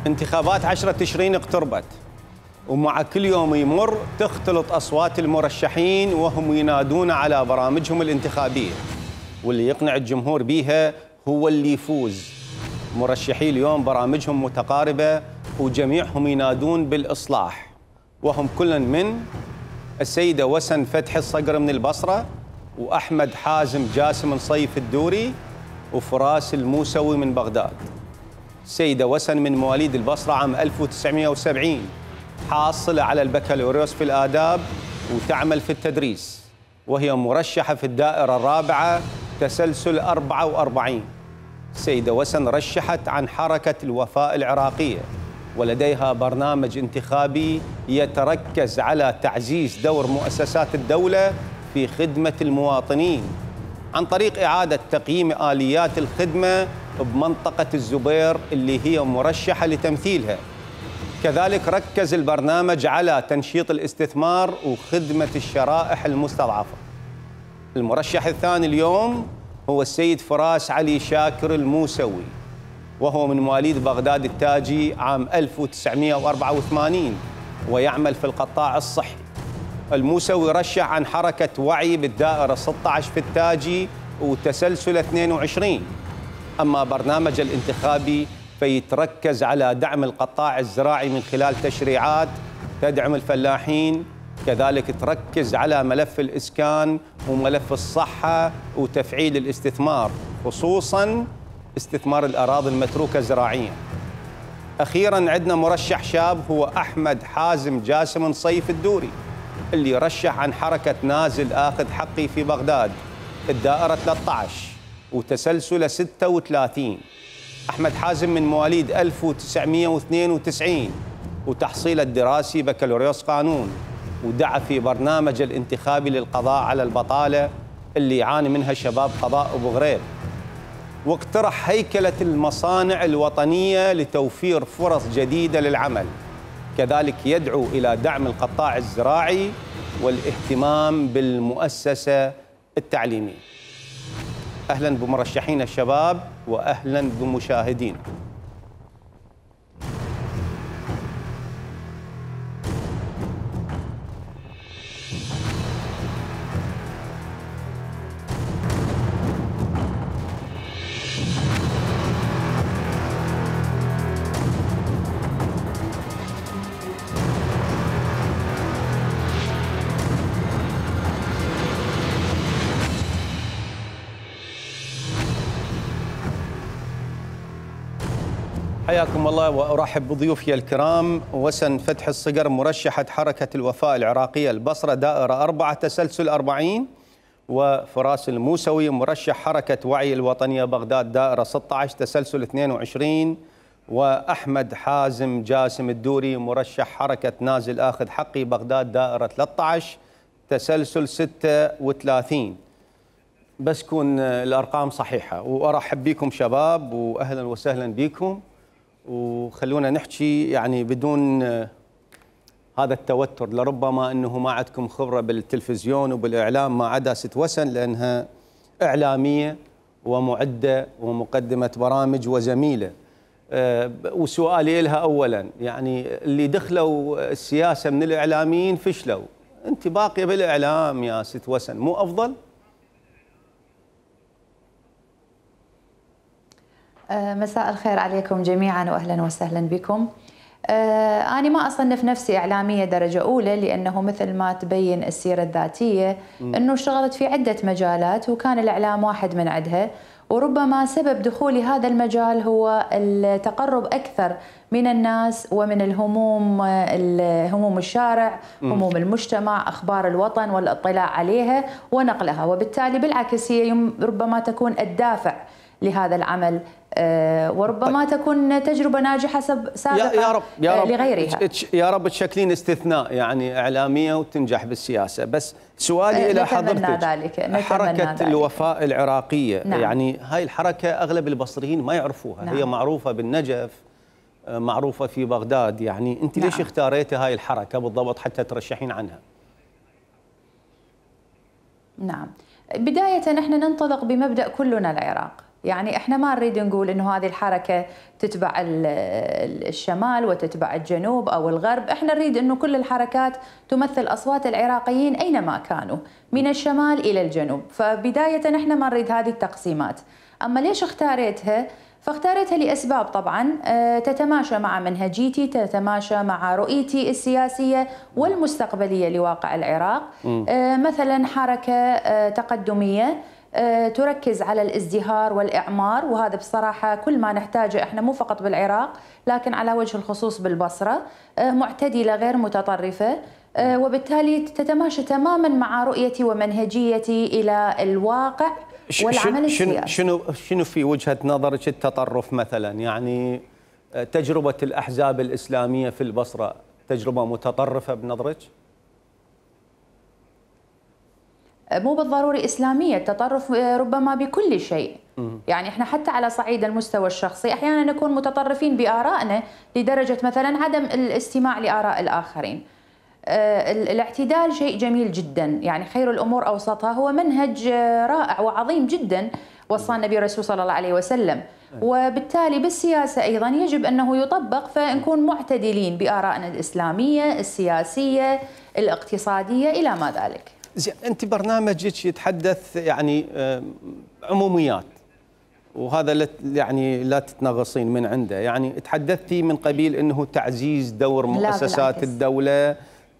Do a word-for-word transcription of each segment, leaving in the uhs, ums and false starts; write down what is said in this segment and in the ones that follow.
انتخابات عشرة تشرين اقتربت، ومع كل يوم يمر تختلط أصوات المرشحين وهم ينادون على برامجهم الانتخابية، واللي يقنع الجمهور بيها هو اللي يفوز. مرشحي اليوم برامجهم متقاربة وجميعهم ينادون بالإصلاح، وهم كل من السيدة وسن فتحي الصقر من البصرة، وأحمد حازم جاسم صيف الدوري، وفراس الموسوي من بغداد. السيدة وسن من مواليد البصرة عام ألف وتسعمئة وسبعين، حاصلة على البكالوريوس في الآداب وتعمل في التدريس، وهي مرشحة في الدائرة الرابعة تسلسل أربعة وأربعين. السيدة وسن رشحت عن حركة الوفاء العراقية، ولديها برنامج انتخابي يتركز على تعزيز دور مؤسسات الدولة في خدمة المواطنين عن طريق إعادة تقييم آليات الخدمة بمنطقة الزبير اللي هي مرشحة لتمثيلها. كذلك ركز البرنامج على تنشيط الاستثمار وخدمة الشرائح المستضعفة. المرشح الثاني اليوم هو السيد فراس علي شاكر الموسوي، وهو من مواليد بغداد التاجي عام ألف وتسعمئة وأربعة وثمانين، ويعمل في القطاع الصحي. الموسوي رشح عن حركة وعي بالدائرة ستة عشر في التاجي وتسلسل اثنين وعشرين. أما برنامج الانتخابي فيتركز على دعم القطاع الزراعي من خلال تشريعات تدعم الفلاحين، كذلك تركز على ملف الإسكان وملف الصحة وتفعيل الاستثمار، خصوصاً استثمار الأراضي المتروكة زراعياً. أخيراً عندنا مرشح شاب هو أحمد حازم جاسم صيف الدوري، اللي رشح عن حركة نازل آخذ حقي في بغداد الدائرة ثلاثة عشر وتسلسل ستة وثلاثين. أحمد حازم من مواليد ألف وتسعمئة واثنين وتسعين، وتحصيله الدراسي بكالوريوس قانون، ودعا في برنامج الانتخابي للقضاء على البطالة اللي يعاني منها شباب قضاء أبو غريب، واقترح هيكلة المصانع الوطنية لتوفير فرص جديدة للعمل. كذلك يدعو إلى دعم القطاع الزراعي والاهتمام بالمؤسسة التعليمية. أهلاً بمرشحين الشباب وأهلاً بمشاهدين. حياكم الله وأرحب بضيوفي الكرام. وسن فتحي الصقر مرشحة حركة الوفاء العراقية البصرة دائرة أربعة تسلسل أربعين، وفراس الموسوي مرشح حركة وعي الوطنية بغداد دائرة ستة عشر تسلسل اثنين وعشرين، وأحمد حازم جاسم الدوري مرشح حركة نازل آخذ حقي بغداد دائرة ثلاثة عشر تسلسل ستة وثلاثين. بس كون الأرقام صحيحة. وأرحب بكم شباب وأهلا وسهلا بكم، وخلونا نحكي يعني بدون هذا التوتر، لربما أنه ما عندكم خبرة بالتلفزيون وبالإعلام ما عدا ست وسن، لأنها إعلامية ومعدة ومقدمة برامج وزميلة. أه وسؤالي لها أولا، يعني اللي دخلوا السياسة من الإعلاميين فشلوا، أنت باقية بالإعلام يا ست وسن، مو أفضل؟ مساء الخير عليكم جميعا واهلا وسهلا بكم. أنا ما أصنف نفسي إعلامية درجة أولى، لأنه مثل ما تبين السيرة الذاتية أنه اشتغلت في عدة مجالات وكان الإعلام واحد من عدها، وربما سبب دخولي هذا المجال هو التقرب أكثر من الناس ومن الهموم، هموم الشارع، هموم المجتمع، أخبار الوطن والاطلاع عليها ونقلها، وبالتالي بالعكس هي ربما تكون الدافع لهذا العمل، وربما طيب. تكون تجربة ناجحة سابقة يا رب يا رب لغيرها. يا رب تشكلين استثناء، يعني إعلامية وتنجح بالسياسة. بس سؤالي إلى حضرتك، ذلك. حركة ذلك. الوفاء العراقية، نعم. يعني هاي الحركة أغلب البصريين ما يعرفوها. نعم. هي معروفة بالنجف، معروفة في بغداد، يعني أنت نعم. ليش اختاريتي هاي الحركة بالضبط حتى ترشحين عنها؟ نعم، بداية نحن ننطلق بمبدأ كلنا العراق، يعني احنا ما نريد نقول انه هذه الحركه تتبع الشمال وتتبع الجنوب او الغرب، احنا نريد انه كل الحركات تمثل اصوات العراقيين اينما كانوا من الشمال الى الجنوب، فبدايه احنا ما نريد هذه التقسيمات. اما ليش اختاريتها؟ فاختاريتها لاسباب طبعا تتماشى مع منهجيتي، تتماشى مع رؤيتي السياسيه والمستقبليه لواقع العراق. مثلا حركه تقدميه تركز على الازدهار والإعمار، وهذا بصراحة كل ما نحتاجه احنا مو فقط بالعراق لكن على وجه الخصوص بالبصرة، معتدلة غير متطرفة، وبالتالي تتماشى تماما مع رؤيتي ومنهجيتي إلى الواقع والعمل السياسي. شنو شنو في وجهة نظرك التطرف مثلا؟ يعني تجربة الأحزاب الإسلامية في البصرة تجربة متطرفة بنظرك؟ مو بالضروري إسلامية، التطرف ربما بكل شيء. يعني احنا حتى على صعيد المستوى الشخصي احيانا نكون متطرفين بآرائنا لدرجة مثلا عدم الاستماع لآراء الآخرين. الاعتدال شيء جميل جدا، يعني خير الأمور أوسطها، هو منهج رائع وعظيم جدا وصى النبي الرسول صلى الله عليه وسلم، وبالتالي بالسياسة أيضا يجب أنه يطبق، فنكون معتدلين بآرائنا الإسلامية، السياسية، الاقتصادية إلى ما ذلك. زين، انت برنامجك يتحدث يعني عموميات، وهذا لا يعني لا تتنغصين من عنده، يعني تحدثتي من قبيل انه تعزيز دور مؤسسات الدوله،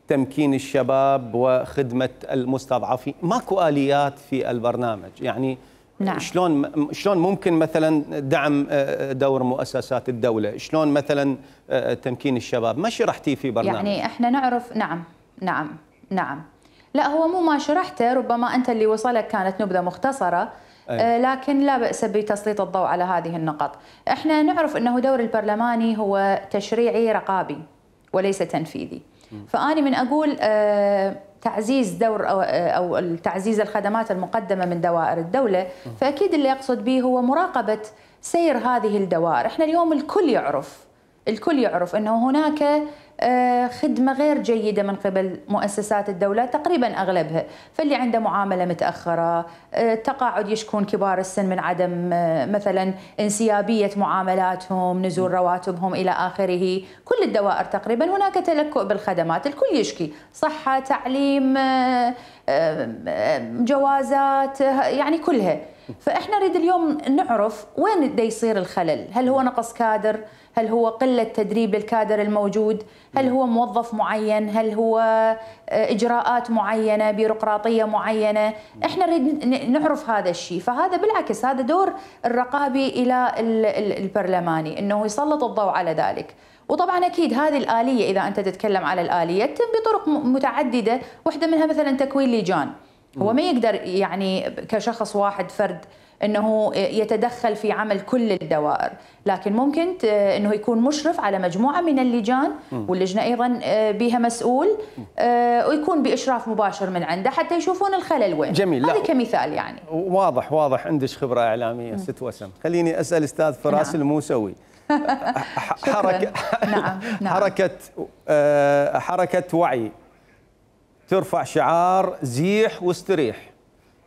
تمكين الشباب وخدمه المستضعفين، ماكو اليات في البرنامج، يعني نعم. شلون شلون ممكن مثلا دعم دور مؤسسات الدوله؟ شلون مثلا تمكين الشباب؟ ما شرحتي في برنامج. يعني احنا نعرف. نعم نعم نعم لا، هو مو ما شرحته، ربما أنت اللي وصلك كانت نبذة مختصرة. آه لكن لا بأس بتسليط الضوء على هذه النقط. احنا نعرف أنه دور البرلماني هو تشريعي رقابي وليس تنفيذي. فأنا من أقول آه تعزيز دور أو, أو تعزيز الخدمات المقدمة من دوائر الدولة، فأكيد اللي يقصد به هو مراقبة سير هذه الدوائر. احنا اليوم الكل يعرف الكل يعرف أنه هناك خدمة غير جيدة من قبل مؤسسات الدولة تقريبا أغلبها، فاللي عنده معاملة متأخرة، تقاعد يشكون كبار السن من عدم مثلا انسيابية معاملاتهم، نزول رواتبهم إلى آخره. كل الدوائر تقريبا هناك تلكؤ بالخدمات، الكل يشكي، صحة، تعليم، جوازات، يعني كلها. فإحنا نريد اليوم نعرف وين دا يصير الخلل، هل هو نقص كادر؟ هل هو قلة تدريب الكادر الموجود؟ هل هو موظف معين؟ هل هو إجراءات معينة، بيروقراطية معينة؟ إحنا نريد نعرف هذا الشيء. فهذا بالعكس هذا دور الرقابي إلى البرلماني، إنه يسلط الضوء على ذلك. وطبعا أكيد هذه الآلية، إذا أنت تتكلم على الآلية، تتم بطرق متعددة، واحدة منها مثلا تكوين لجان. هو ما يقدر يعني كشخص واحد فرد انه يتدخل في عمل كل الدوائر، لكن ممكن انه يكون مشرف على مجموعه من اللجان، واللجنه ايضا بها مسؤول، ويكون باشراف مباشر من عنده حتى يشوفون الخلل وين. جميل. هذا كمثال يعني. واضح واضح عندك خبره اعلاميه ست وسم. خليني اسال استاذ فراس نعم. الموسوي. حركه نعم. نعم. حركه حركه وعي ترفع شعار زيح واستريح،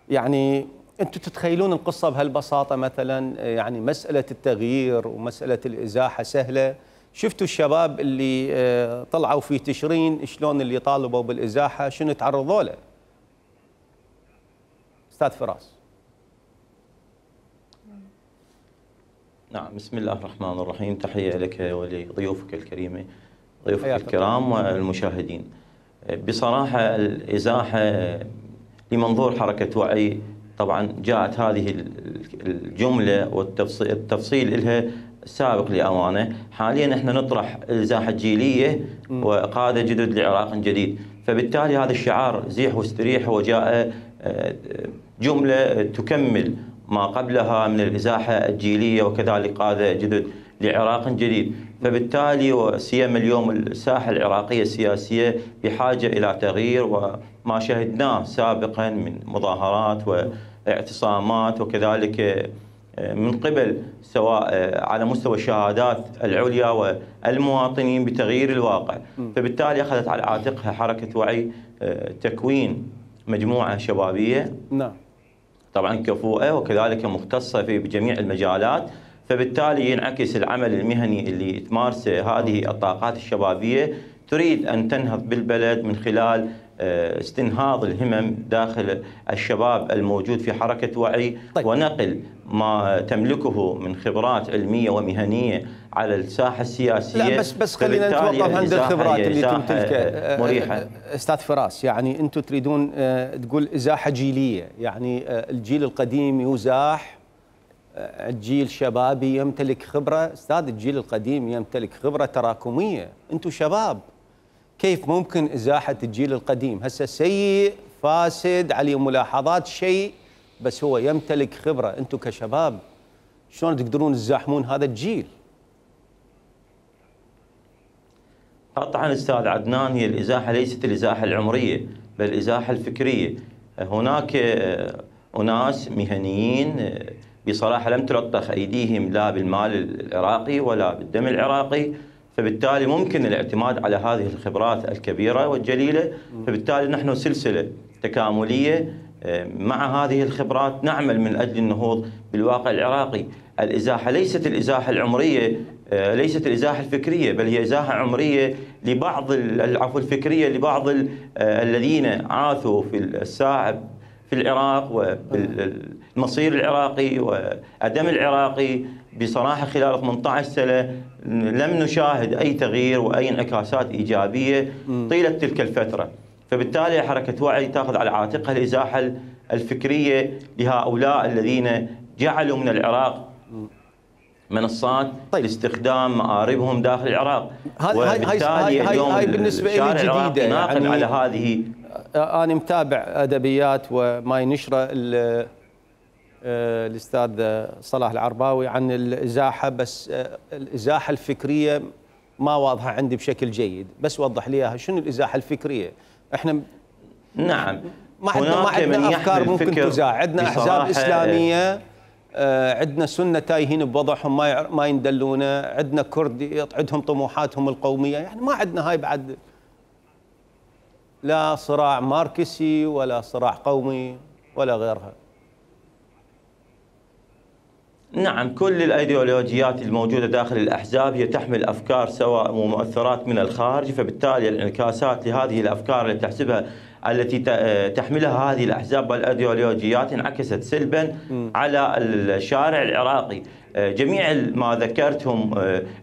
يعني انتم تتخيلون القصه بهالبساطه؟ مثلا يعني مساله التغيير ومساله الازاحه سهله. شفتوا الشباب اللي طلعوا في تشرين شلون اللي طالبوا بالازاحه شنو تعرضوا له؟ استاذ فراس. نعم، بسم الله الرحمن الرحيم، تحيه لك ولضيوفك الكريمه، ضيوفك الكرام والمشاهدين. بصراحه الازاحه لمنظور حركه وعي، طبعا جاءت هذه الجمله والتفصيل لها سابق لأوانه. حاليا احنا نطرح الازاحه الجيليه وقاده جدد لعراق جديد، فبالتالي هذا الشعار زيح واستريح هو جاء جمله تكمل ما قبلها من الازاحه الجيليه وكذلك قاده جدد لعراق جديد. فبالتالي وسيما اليوم الساحه العراقيه السياسيه بحاجه الى تغيير، وما شهدناه سابقا من مظاهرات واعتصامات وكذلك من قبل سواء على مستوى الشهادات العليا والمواطنين بتغيير الواقع. فبالتالي اخذت على عاتقها حركه وعي تكوين مجموعه شبابيه نعم طبعا كفؤة وكذلك مختصة في بجميع المجالات، فبالتالي ينعكس العمل المهني اللي تمارسه هذه الطاقات الشبابية، تريد أن تنهض بالبلد من خلال استنهاض الهمم داخل الشباب الموجود في حركة وعي. طيب. ونقل ما تملكه من خبرات علمية ومهنية على الساحة السياسية. لا بس بس خلينا نتوقف عند الخبرات اللي تمتلكها مريحة. أستاذ فراس، يعني أنتم تريدون تقول إزاحة جيلية، يعني الجيل القديم يزاح، الجيل الشبابي يمتلك خبرة. أستاذ الجيل القديم يمتلك خبرة تراكمية، أنتم شباب، كيف ممكن إزاحة الجيل القديم؟ هسه سيء فاسد عليه ملاحظات شيء، بس هو يمتلك خبرة. أنتم كشباب شلون تقدرون تزاحمون هذا الجيل؟ قطعا أستاذ عدنان، هي الإزاحة ليست الإزاحة العمرية بل الإزاحة الفكرية. هناك أناس مهنيين بصراحة لم تلطخ أيديهم لا بالمال العراقي ولا بالدم العراقي، فبالتالي ممكن الاعتماد على هذه الخبرات الكبيرة والجليلة. فبالتالي نحن سلسلة تكاملية مع هذه الخبرات نعمل من أجل النهوض بالواقع العراقي. الإزاحة ليست الإزاحة العمرية، ليست الإزاحة الفكرية، بل هي إزاحة عمرية لبعض العفو الفكرية لبعض الذين عاثوا في الساعة في العراق وبالمصير العراقي والدم العراقي. بصراحة خلال ثمانية عشر سنة لم نشاهد أي تغيير وأي انعكاسات إيجابية طيلة تلك الفترة. فبالتالي حركة وعي تأخذ على عاتقها الإزاحة الفكرية لهؤلاء الذين جعلوا من العراق منصات طيب. لاستخدام مآربهم داخل العراق. وبالتالي اليوم هاي بالنسبة لي جديدة، يعني على هذه. أنا متابع أدبيات وما ينشره الأستاذ صلاح العرباوي عن الإزاحة، بس الإزاحة الفكرية ما واضحة عندي بشكل جيد، بس وضح لي إياها. شنو الإزاحة الفكرية؟ إحنا نعم ما عندنا ما عندنا أفكار ممكن تزاح، عندنا أحزاب إسلامية، عندنا سنة تايهين بوضعهم ما ما يندلونه، عندنا كرد عندهم طموحاتهم القومية، يعني ما عندنا هاي بعد لا صراع ماركسي ولا صراع قومي ولا غيرها. نعم، كل الأيديولوجيات الموجودة داخل الأحزاب هي تحمل أفكار سواء ومؤثرات من الخارج، فبالتالي الانعكاسات لهذه الأفكار التي تحسبها التي تحملها هذه الأحزاب والأيديولوجيات انعكست سلبا على الشارع العراقي. جميع ما ذكرتهم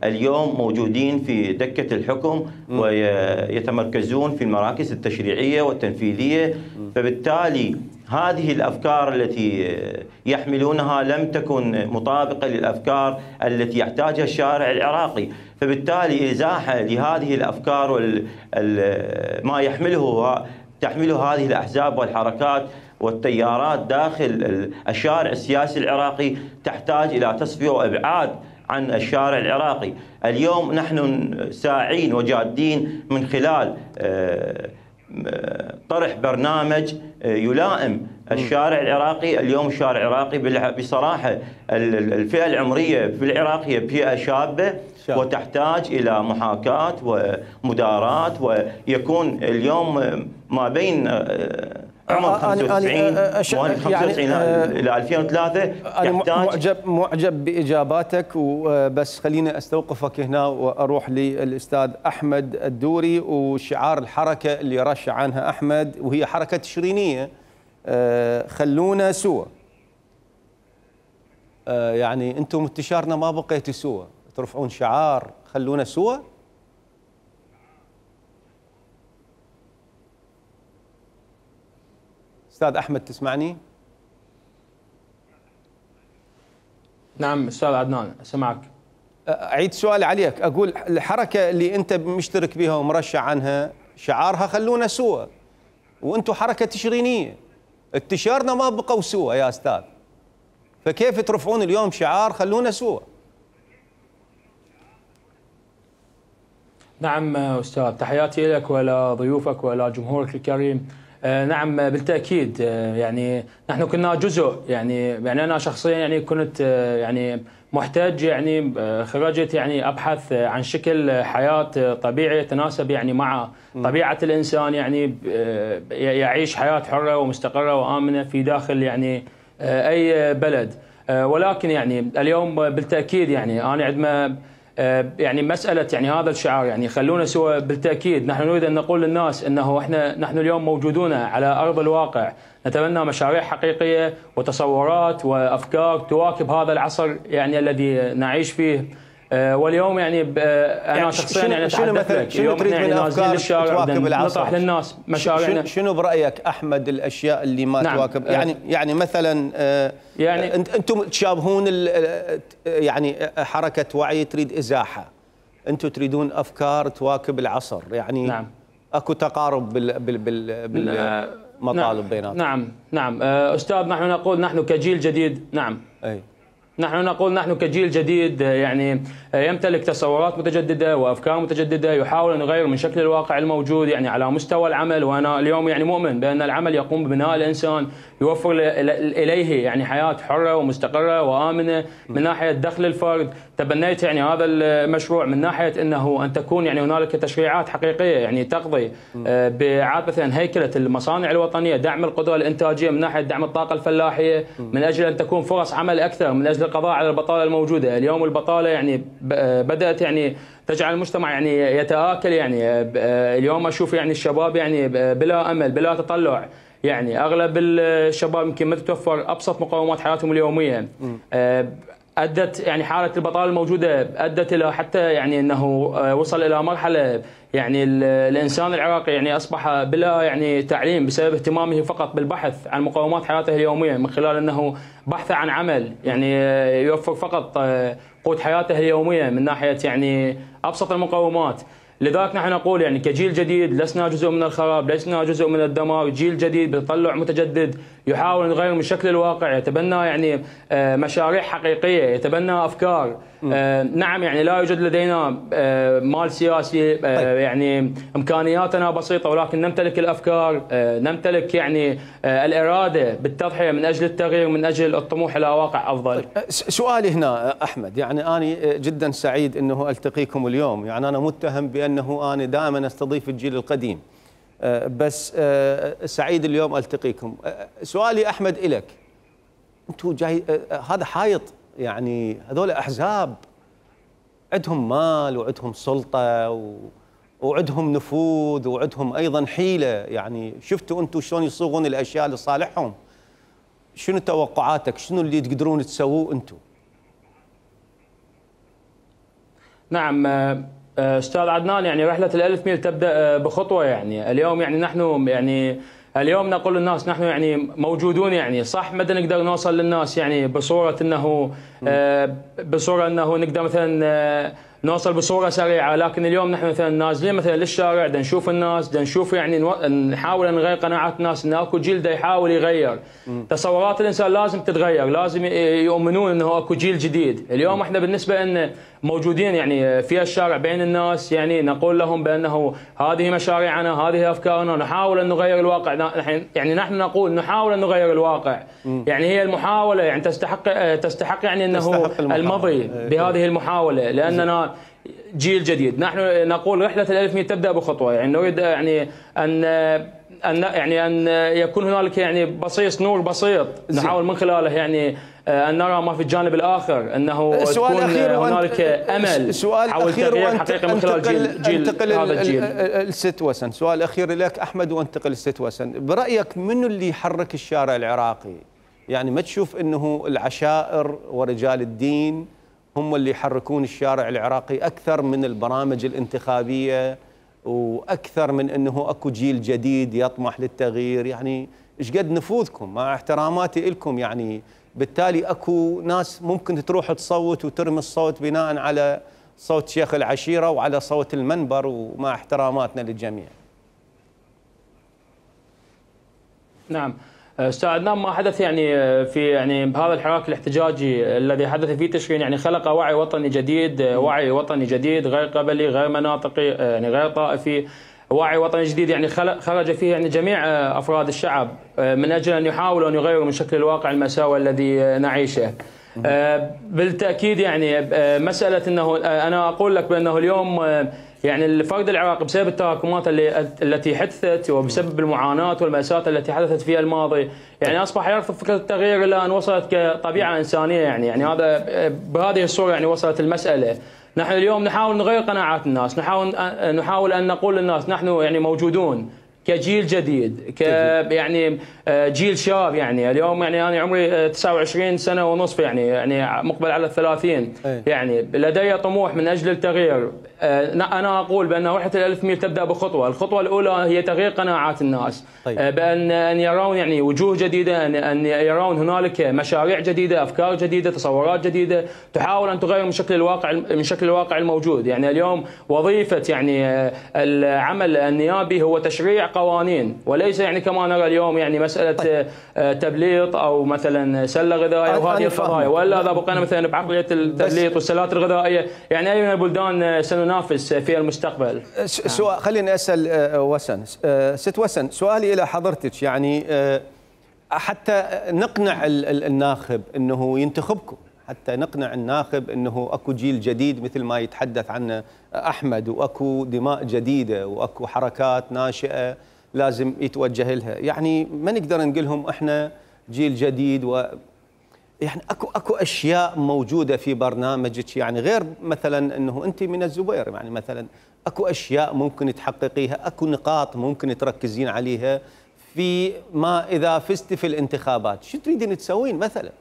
اليوم موجودين في دكة الحكم ويتمركزون في المراكز التشريعية والتنفيذية، فبالتالي هذه الأفكار التي يحملونها لم تكن مطابقة للأفكار التي يحتاجها الشارع العراقي. فبالتالي إزاحة لهذه الأفكار وما يحمله تحمله هذه الأحزاب والحركات والتيارات داخل الشارع السياسي العراقي تحتاج إلى تصفية وإبعاد عن الشارع العراقي. اليوم نحن ساعين وجادين من خلال طرح برنامج يلائم الشارع العراقي. اليوم الشارع العراقي بصراحة الفئة العمرية في العراق هي فئة شابة وتحتاج إلى محاكاة ومداراة، ويكون اليوم ما بين عمر خمسة وتسعين إلى ألفين وثلاثة. أنا معجب معجب بإجاباتك، وبس خليني أستوقفك هنا وأروح للأستاذ أحمد الدوري وشعار الحركة اللي رشح عنها أحمد، وهي حركة تشرينية، خلونا سوا. يعني أنتم انتشارنا ما بقيتوا سوا، ترفعون شعار خلونا سوا. أستاذ أحمد تسمعني؟ نعم أستاذ عدنان أسمعك. أعيد سؤال عليك، أقول الحركة اللي أنت مشترك بها ومرشح عنها شعارها خلونا سوا، وأنتم حركة تشرينية، انتشارنا ما بقوا سوا يا أستاذ، فكيف ترفعون اليوم شعار خلونا سوا؟ نعم أستاذ، تحياتي لك ولضيوفك ولجمهورك الكريم. آه نعم بالتأكيد، آه يعني نحن كنا جزء، يعني يعني أنا شخصيا يعني كنت آه يعني محتاج، يعني آه خرجت يعني أبحث عن شكل حياة طبيعي يتناسب يعني مع طبيعة الإنسان، يعني آه يعيش حياة حرة ومستقرة وآمنة في داخل يعني اي بلد. ولكن يعني اليوم بالتاكيد يعني انا عندما يعني مساله يعني هذا الشعار يعني خلونا سوا، بالتاكيد نحن نريد ان نقول للناس انه احنا نحن اليوم موجودون على ارض الواقع، نتبنى مشاريع حقيقيه وتصورات وافكار تواكب هذا العصر يعني الذي نعيش فيه. واليوم يعني انا يعني شخصيا يعني اتحدث لك اليوم تريد يعني من افكار تواكب العصر؟ نطرح للناس مشاريعنا. شنو برايك احمد الاشياء اللي ما نعم. تواكب يعني يعني مثلا يعني انتم تشابهون يعني حركه وعي تريد ازاحه، انتم تريدون افكار تواكب العصر، يعني نعم. اكو تقارب بال بال بال بالمطالب نعم. بيناتكم. نعم نعم استاذ، نحن نقول نحن كجيل جديد نعم اي نحن نقول نحن كجيل جديد يعني يمتلك تصورات متجددة وأفكار متجددة، يحاول أن يغير من شكل الواقع الموجود يعني على مستوى العمل. وأنا اليوم يعني مؤمن بأن العمل يقوم ببناء الإنسان، يوفر إليه يعني حياة حرة ومستقرة وآمنة من ناحية دخل الفرد. تبنيت يعني هذا المشروع من ناحية أنه أن تكون يعني هنالك تشريعات حقيقية يعني تقضي بإعادة مثلا هيكلة المصانع الوطنية، دعم القدرة الإنتاجية من ناحية دعم الطاقة الفلاحية، من أجل أن تكون فرص عمل أكثر، من أجل القضاء على البطالة الموجودة. اليوم البطالة يعني بدأت يعني تجعل المجتمع يعني يتآكل. يعني اليوم أشوف يعني الشباب يعني بلا أمل بلا تطلع، يعني أغلب الشباب يمكن ما تتوفر أبسط مقومات حياتهم اليومية. أدت يعني حالة البطالة الموجودة أدت إلى حتى يعني أنه وصل إلى مرحلة يعني الإنسان العراقي يعني أصبح بلا يعني تعليم بسبب اهتمامه فقط بالبحث عن مقومات حياته اليومية، من خلال أنه بحث عن عمل يعني يوفر فقط قوت حياته اليومية من ناحية يعني أبسط المقومات. لذلك نحن نقول يعني كجيل جديد لسنا جزء من الخراب، لسنا جزء من الدمار، جيل جديد بتطلع متجدد يحاول أن يغير من شكل الواقع، يتبنى يعني مشاريع حقيقية، يتبنى أفكار. نعم يعني لا يوجد لدينا مال سياسي، يعني إمكانياتنا بسيطة، ولكن نمتلك الأفكار، نمتلك يعني الإرادة بالتضحية من أجل التغيير، من أجل الطموح إلى واقع أفضل. سؤالي هنا أحمد، يعني أنا جدا سعيد أنه ألتقيكم اليوم. يعني أنا متهم بأنه أنا دائما أستضيف الجيل القديم، بس سعيد اليوم ألتقيكم. سؤالي أحمد إلك، أنتوا جاي هذا حايط، يعني هذول أحزاب عندهم مال وعندهم سلطة و... وعندهم نفوذ وعندهم أيضا حيلة، يعني شفتوا أنتوا شلون يصوغون الأشياء لصالحهم؟ شنو توقعاتك؟ شنو اللي تقدرون تسووه أنتوا؟ نعم أستاذ عدنان، يعني رحلة الألف ميل تبدأ بخطوة. يعني اليوم يعني نحن يعني اليوم نقول للناس نحن يعني موجودون، يعني صح ما نقدر نوصل للناس يعني بصورة أنه بصورة أنه نقدر مثلا نوصل بصورة سريعة، لكن اليوم نحن مثلا نازلين مثلا للشارع، دا نشوف الناس، دا نشوف يعني نحاول ان نغير قناعات الناس، ان اكو جيل دا يحاول يغير. م. تصورات الانسان لازم تتغير، لازم يؤمنون انه اكو جيل جديد. اليوم احنا بالنسبة ان موجودين يعني في الشارع بين الناس، يعني نقول لهم بانه هذه مشاريعنا، هذه افكارنا، نحاول ان نغير الواقع. يعني نحن نقول نحاول ان نغير الواقع. م. يعني هي المحاولة يعني تستحق تستحق يعني انه تستحق المضي بهذه المحاولة، لاننا جيل جديد. نحن نقول رحلة الألف ميل تبدأ بخطوة، يعني نريد يعني أن أن يعني أن يكون هنالك يعني بصيص نور بسيط نحاول من خلاله يعني أن نرى ما في الجانب الآخر، أنه تكون هنالك أمل حول تغيير حقيقي من خلال جيل, جيل هذا الجيل. الست وسن، سؤال أخير لك أحمد وانتقل الست وسن، برأيك منو اللي يحرك الشارع العراقي؟ يعني ما تشوف أنه العشائر ورجال الدين هم اللي يحركون الشارع العراقي أكثر من البرامج الانتخابية، وأكثر من أنه أكو جيل جديد يطمح للتغيير؟ يعني إيش قد نفوذكم مع احتراماتي لكم، يعني بالتالي أكو ناس ممكن تروح تصوت وترمي الصوت بناء على صوت شيخ العشيرة وعلى صوت المنبر، ومع احتراماتنا للجميع. نعم استاذ عدنان، ما حدث يعني في يعني بهذا الحراك الاحتجاجي الذي حدث في تشرين يعني خلق وعي وطني جديد، وعي وطني جديد غير قبلي، غير مناطقي، يعني غير طائفي، وعي وطني جديد يعني خرج فيه يعني جميع افراد الشعب من اجل ان يحاولوا ان يغيروا من شكل الواقع المأساوي الذي نعيشه. بالتاكيد يعني مساله انه انا اقول لك بانه اليوم يعني الفرد العراقي بسبب التراكمات اللي التي حدثت وبسبب المعاناه والماساه التي حدثت في الماضي يعني اصبح يرفض فكره التغيير الى ان وصلت كطبيعه انسانيه يعني يعني هذا بهذه الصوره يعني وصلت المساله. نحن اليوم نحاول نغير قناعات الناس، نحاول نحاول ان نقول للناس نحن يعني موجودون كجيل جديد، ك يعني جيل شاب يعني اليوم يعني انا عمري تسعة وعشرين سنه ونصف يعني يعني مقبل على الثلاثين يعني لدي طموح من اجل التغيير. انا اقول بان وحده الألف ميل تبدا بخطوه، الخطوه الاولى هي تغيير قناعات الناس. طيب. بان ان يرون يعني وجوه جديده، ان ان يرون هنالك مشاريع جديده، افكار جديده، تصورات جديده تحاول ان تغير من شكل الواقع من شكل الواقع الموجود. يعني اليوم وظيفه يعني العمل النيابي هو تشريع قوانين وليس يعني كما نرى اليوم يعني مساله طيب. تبليط او مثلا سله غذائيه وهذه القضايا، والا اذا بقينا مثلا بعقليه التبليط والسلات الغذائيه يعني اي من البلدان سننافس في المستقبل. سؤال خليني اسال وسن، ست وسن سؤالي الى حضرتك يعني حتى نقنع الناخب انه ينتخبكم، حتى نقنع الناخب انه اكو جيل جديد مثل ما يتحدث عنه احمد، واكو دماء جديده واكو حركات ناشئه لازم يتوجه لها، يعني ما نقدر نقول لهم احنا جيل جديد و يعني اكو اكو اشياء موجوده في برنامجك يعني غير مثلا انه انت من الزبير، يعني مثلا اكو اشياء ممكن تحققيها، اكو نقاط ممكن تركزين عليها في ما اذا فزت في الانتخابات، شو تريدين تسوين مثلا؟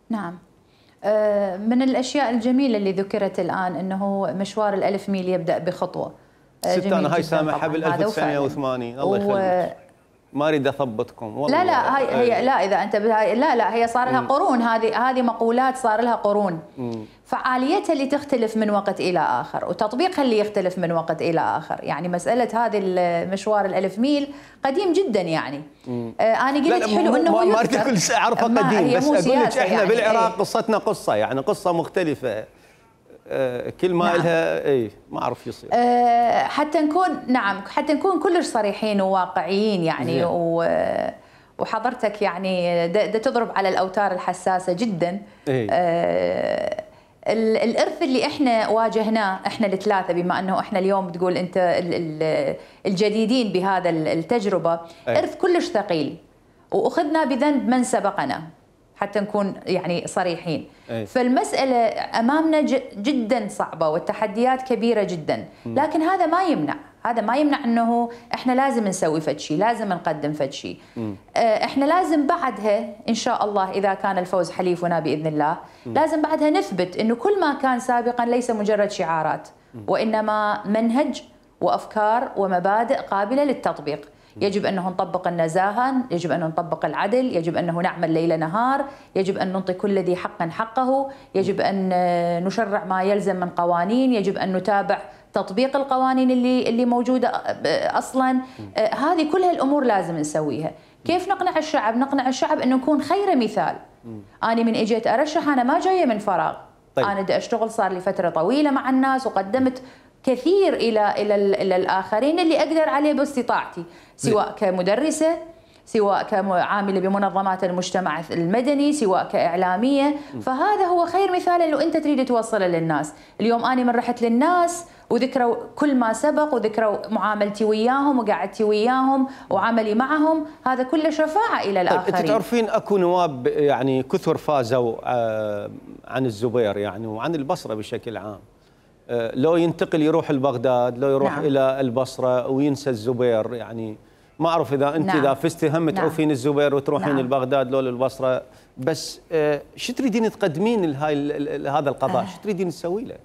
نعم. من الاشياء الجميله اللي ذكرت الان انه مشوار الألف ميل يبدا بخطوه. ست انا هاي سامحه بال ألف وتسعمئة وثمانين الله يخليك. ما اريد اثبطكم والله. لا لا هي, هي لا اذا انت لا لا هي صار لها قرون، هذه هذه مقولات صار لها قرون. مم. فعاليتها اللي تختلف من وقت الى اخر وتطبيقها اللي يختلف من وقت الى اخر، يعني مساله هذه المشوار الألف ميل قديم جدا يعني. آه انا قلت حلو انه ما اريد اقول اعرفه قديم، بس اقول لك احنا يعني بالعراق ايه؟ قصتنا قصه يعني قصه مختلفه. كل ما نعم. لها اي ما اعرف يصير. أه حتى نكون نعم حتى نكون كلش صريحين وواقعيين يعني و وحضرتك يعني دا تضرب على الاوتار الحساسه جدا. إيه؟ أه الارث اللي احنا واجهناه احنا الثلاثه، بما انه احنا اليوم تقول انت الجديدين بهذا التجربه، إيه؟ ارث كلش ثقيل واخذنا بذنب من سبقنا حتى نكون يعني صريحين. أي. فالمسألة أمامنا جدا صعبة والتحديات كبيرة جدا، لكن هذا ما يمنع هذا ما يمنع أنه إحنا لازم نسوي فد شيء، لازم نقدم فد شيء. إحنا لازم بعدها إن شاء الله إذا كان الفوز حليفنا بإذن الله، م. لازم بعدها نثبت أنه كل ما كان سابقا ليس مجرد شعارات، م. وإنما منهج وأفكار ومبادئ قابلة للتطبيق. يجب أنه نطبق النزاهة، يجب أن نطبق العدل، يجب أنه نعمل ليل نهار، يجب أن نعطي كل ذي حق حقه، يجب أن نشرع ما يلزم من قوانين، يجب أن نتابع تطبيق القوانين اللي اللي موجودة أصلا. آه هذه كلها الأمور لازم نسويها. كيف نقنع الشعب؟ نقنع الشعب أنه نكون خير مثال. أنا من إجيت أرشح أنا ما جاية من فراغ. طيب. أنا دا أشتغل صار لي فترة طويلة مع الناس وقدمت كثير الى الى الى الاخرين اللي اقدر عليه باستطاعتي، سواء كمدرسه، سواء كعامله بمنظمات المجتمع المدني، سواء كاعلاميه، فهذا هو خير مثال لو انت تريد توصله للناس. اليوم انا من رحت للناس وذكروا كل ما سبق وذكروا معاملتي وياهم وقعدتي وياهم وعملي معهم، هذا كله شفاعه الى الاخرين. طيب انت تعرفين اكو نواب يعني كثر فازوا عن الزبير يعني وعن البصره بشكل عام، لو ينتقل يروح لبغداد، لو يروح نعم. إلى البصرة وينسى الزبير، يعني ما أعرف إذا أنت نعم. إذا فزتي هم تعرفين نعم. الزبير وتروحين نعم. لبغداد لو للبصرة، بس آه شو تريدين تقدمين لهاي هذا القضاء؟ آه. شو تريدين تسوي له؟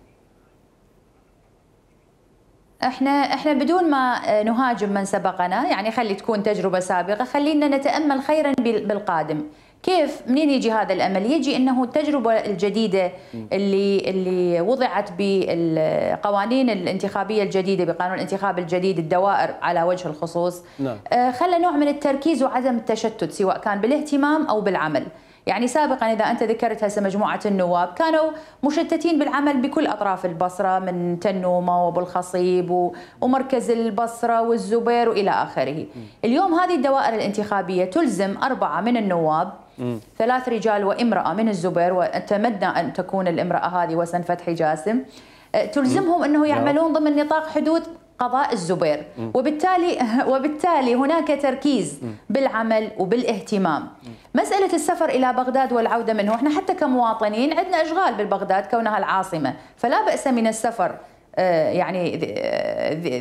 احنا احنا بدون ما نهاجم من سبقنا، يعني خلي تكون تجربة سابقة، خلينا نتأمل خيرا بالقادم. كيف منين يجي هذا الامل؟ يجي انه التجربه الجديده اللي اللي وضعت بالقوانين الانتخابيه الجديده، بقانون الانتخاب الجديد، الدوائر على وجه الخصوص، نعم. آه خلى نوع من التركيز وعدم التشتت سواء كان بالاهتمام او بالعمل. يعني سابقا اذا انت ذكرت هسه مجموعه النواب كانوا مشتتين بالعمل بكل اطراف البصره، من تنومه وابو الخصيب ومركز البصره والزبير والى اخره. اليوم هذه الدوائر الانتخابيه تلزم اربعه من النواب مم. ثلاث رجال وامرأة من الزبير، وأتمنى أن تكون الامرأة هذه وسن فتحي جاسم، تلزمهم أنه يعملون ضمن نطاق حدود قضاء الزبير، م. وبالتالي وبالتالي هناك تركيز م. بالعمل وبالاهتمام. م. مسألة السفر إلى بغداد والعودة منه، احنا حتى كمواطنين عندنا أشغال بالبغداد كونها العاصمة، فلا بأس من السفر يعني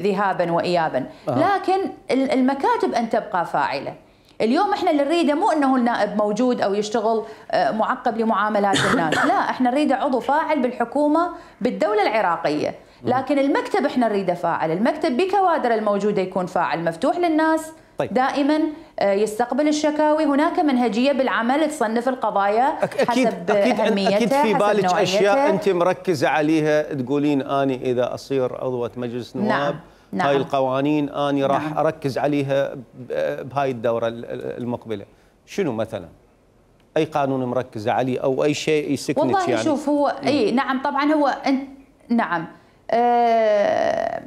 ذهابا وإيابا، آه. لكن المكاتب أن تبقى فاعلة. اليوم احنا اللي نريده مو انه النائب موجود او يشتغل معقب لمعاملات الناس، لا احنا نريده عضو فاعل بالحكومة بالدولة العراقية، لكن المكتب احنا نريده فاعل، المكتب بكوادر الموجودة يكون فاعل مفتوح للناس. طيب. دائما يستقبل الشكاوي، هناك منهجية بالعمل تصنف القضايا أكيد حسب أكيد أهميتها، أكيد في بالك أشياء أنت مركزة مركزة عليها تقولين أني إذا أصير عضوة مجلس نواب نعم. نعم. هاي القوانين أني راح نعم. أركز عليها بهاي الدورة المقبلة. شنو مثلا؟ أي قانون مركزة عليه أو أي شيء يسكنك والله يعني؟ والله شوف هو أي نعم طبعا هو أنت نعم أه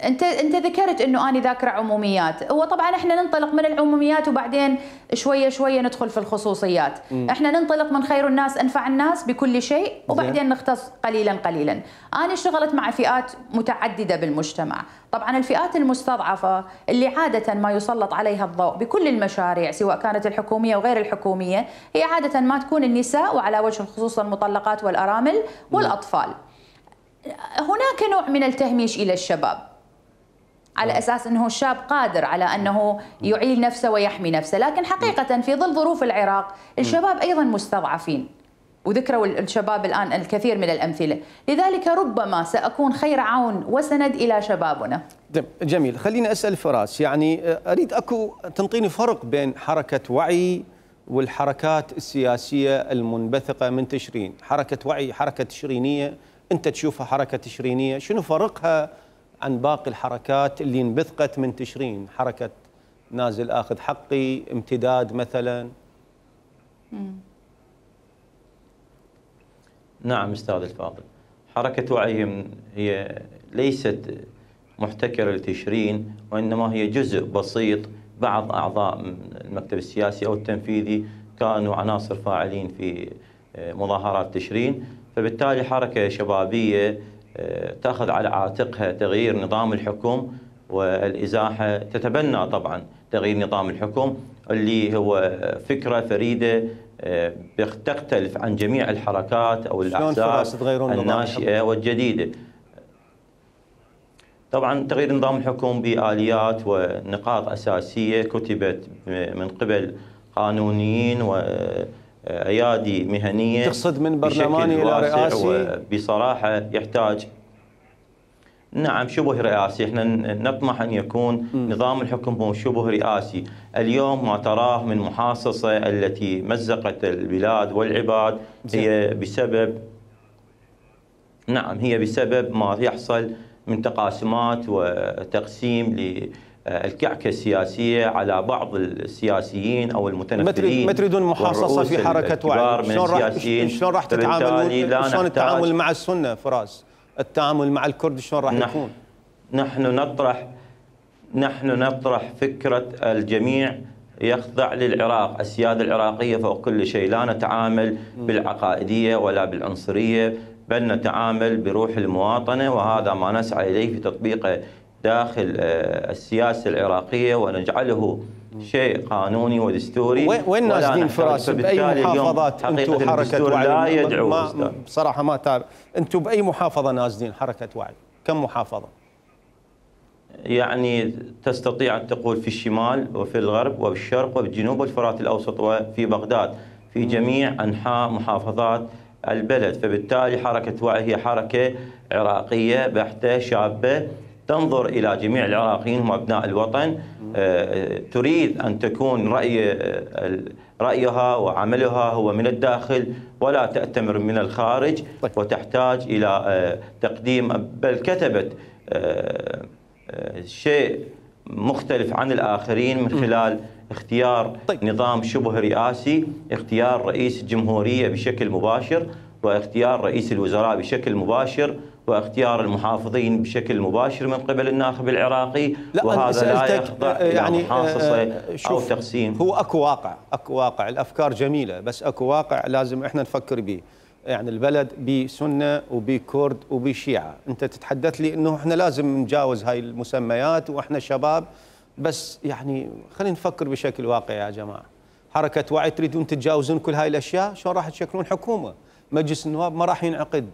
انت انت ذكرت انه اني ذاكره عموميات، هو طبعا احنا ننطلق من العموميات وبعدين شويه شويه ندخل في الخصوصيات. م. احنا ننطلق من خير الناس انفع الناس بكل شيء، وبعدين نختص قليلا قليلا. انا اشتغلت مع فئات متعدده بالمجتمع، طبعا الفئات المستضعفه اللي عاده ما يسلط عليها الضوء بكل المشاريع سواء كانت الحكوميه وغير الحكوميه هي عاده ما تكون النساء، وعلى وجه الخصوص المطلقات والارامل والاطفال. هناك نوع من التهميش الى الشباب على أساس أنه الشاب قادر على أنه يعيل نفسه ويحمي نفسه، لكن حقيقة في ظل ظروف العراق الشباب أيضا مستضعفين، وذكروا الشباب الآن الكثير من الأمثلة، لذلك ربما سأكون خير عون وسند إلى شبابنا. جميل. خليني أسأل فراس، يعني أريد أكو تنطيني فرق بين حركة وعي والحركات السياسية المنبثقة من تشرين. حركة وعي حركة تشرينية، أنت تشوفها حركة تشرينية، شنو فرقها عن باقي الحركات اللي انبثقت من تشرين؟ حركة نازل آخذ حقي، امتداد مثلا. مم. نعم أستاذ الفاضل، حركة وعي هي ليست محتكرة لتشرين، وإنما هي جزء بسيط. بعض أعضاء المكتب السياسي أو التنفيذي كانوا عناصر فاعلين في مظاهرات تشرين، فبالتالي حركة شبابية تأخذ على عاتقها تغيير نظام الحكم والإزاحة، تتبنى طبعا تغيير نظام الحكم اللي هو فكرة فريدة تختلف عن جميع الحركات أو الأحزاب الناشئة والجديدة. طبعا تغيير نظام الحكم بآليات ونقاط أساسية كتبت من قبل قانونيين وأيادي مهنية. تقصد من برلماني إلى رئاسي؟ بصراحة يحتاج نعم شبه رئاسي. احنا نطمح أن يكون م. نظام الحكم شبه رئاسي. اليوم ما تراه من محاصصة التي مزقت البلاد والعباد هي بسبب نعم هي بسبب ما يحصل من تقاسمات وتقسيم للكعكة السياسية على بعض السياسيين أو المتنفذين. ما تريدون محاصصة في حركة وعي؟ شلون راح شلون راح تتعاملون؟ شلون التعامل مع السنة فراس؟ التعامل مع الكرد شلون راح يكون؟ نحن نطرح نحن نطرح فكرة الجميع يخضع للعراق، السيادة العراقية فوق كل شيء. لا نتعامل بالعقائدية ولا بالعنصرية، بل نتعامل بروح المواطنة، وهذا ما نسعى إليه في تطبيقه داخل السياسة العراقية ونجعله شيء قانوني ودستوري. وين نازلين فراس؟ بأي محافظات أنتم حركة وعي؟ لا يدعو ما بصراحة ما تعرف أنتم بأي محافظة نازلين حركة وعي؟ كم محافظة؟ يعني تستطيع أن تقول في الشمال وفي الغرب وبالشرق وبالجنوب والفرات الأوسط وفي بغداد، في جميع أنحاء محافظات البلد. فبالتالي حركة وعي هي حركة عراقية بحتة شابة تنظر إلى جميع العراقيين هم أبناء الوطن، تريد أن تكون رأي رأيها وعملها هو من الداخل ولا تأتمر من الخارج، وتحتاج إلى تقديم، بل كتبت شيء مختلف عن الآخرين من خلال اختيار نظام شبه رئاسي، اختيار رئيس الجمهورية بشكل مباشر، واختيار رئيس الوزراء بشكل مباشر واختيار المحافظين بشكل مباشر من قبل الناخب العراقي، لا وهذا لا يخضع يعني إلى محاصصة أو تقسيم. هو أكو واقع، أكو واقع، الأفكار جميلة بس أكو واقع لازم إحنا نفكر به. يعني البلد بسنة وبكرد وبشيعة، أنت تتحدث لي أنه إحنا لازم نجاوز هاي المسميات وإحنا شباب، بس يعني خلينا نفكر بشكل واقعي يا جماعة. حركة وعي تريدون تتجاوزون كل هاي الأشياء، شلون راح تشكلون حكومة؟ مجلس النواب ما راح ينعقد.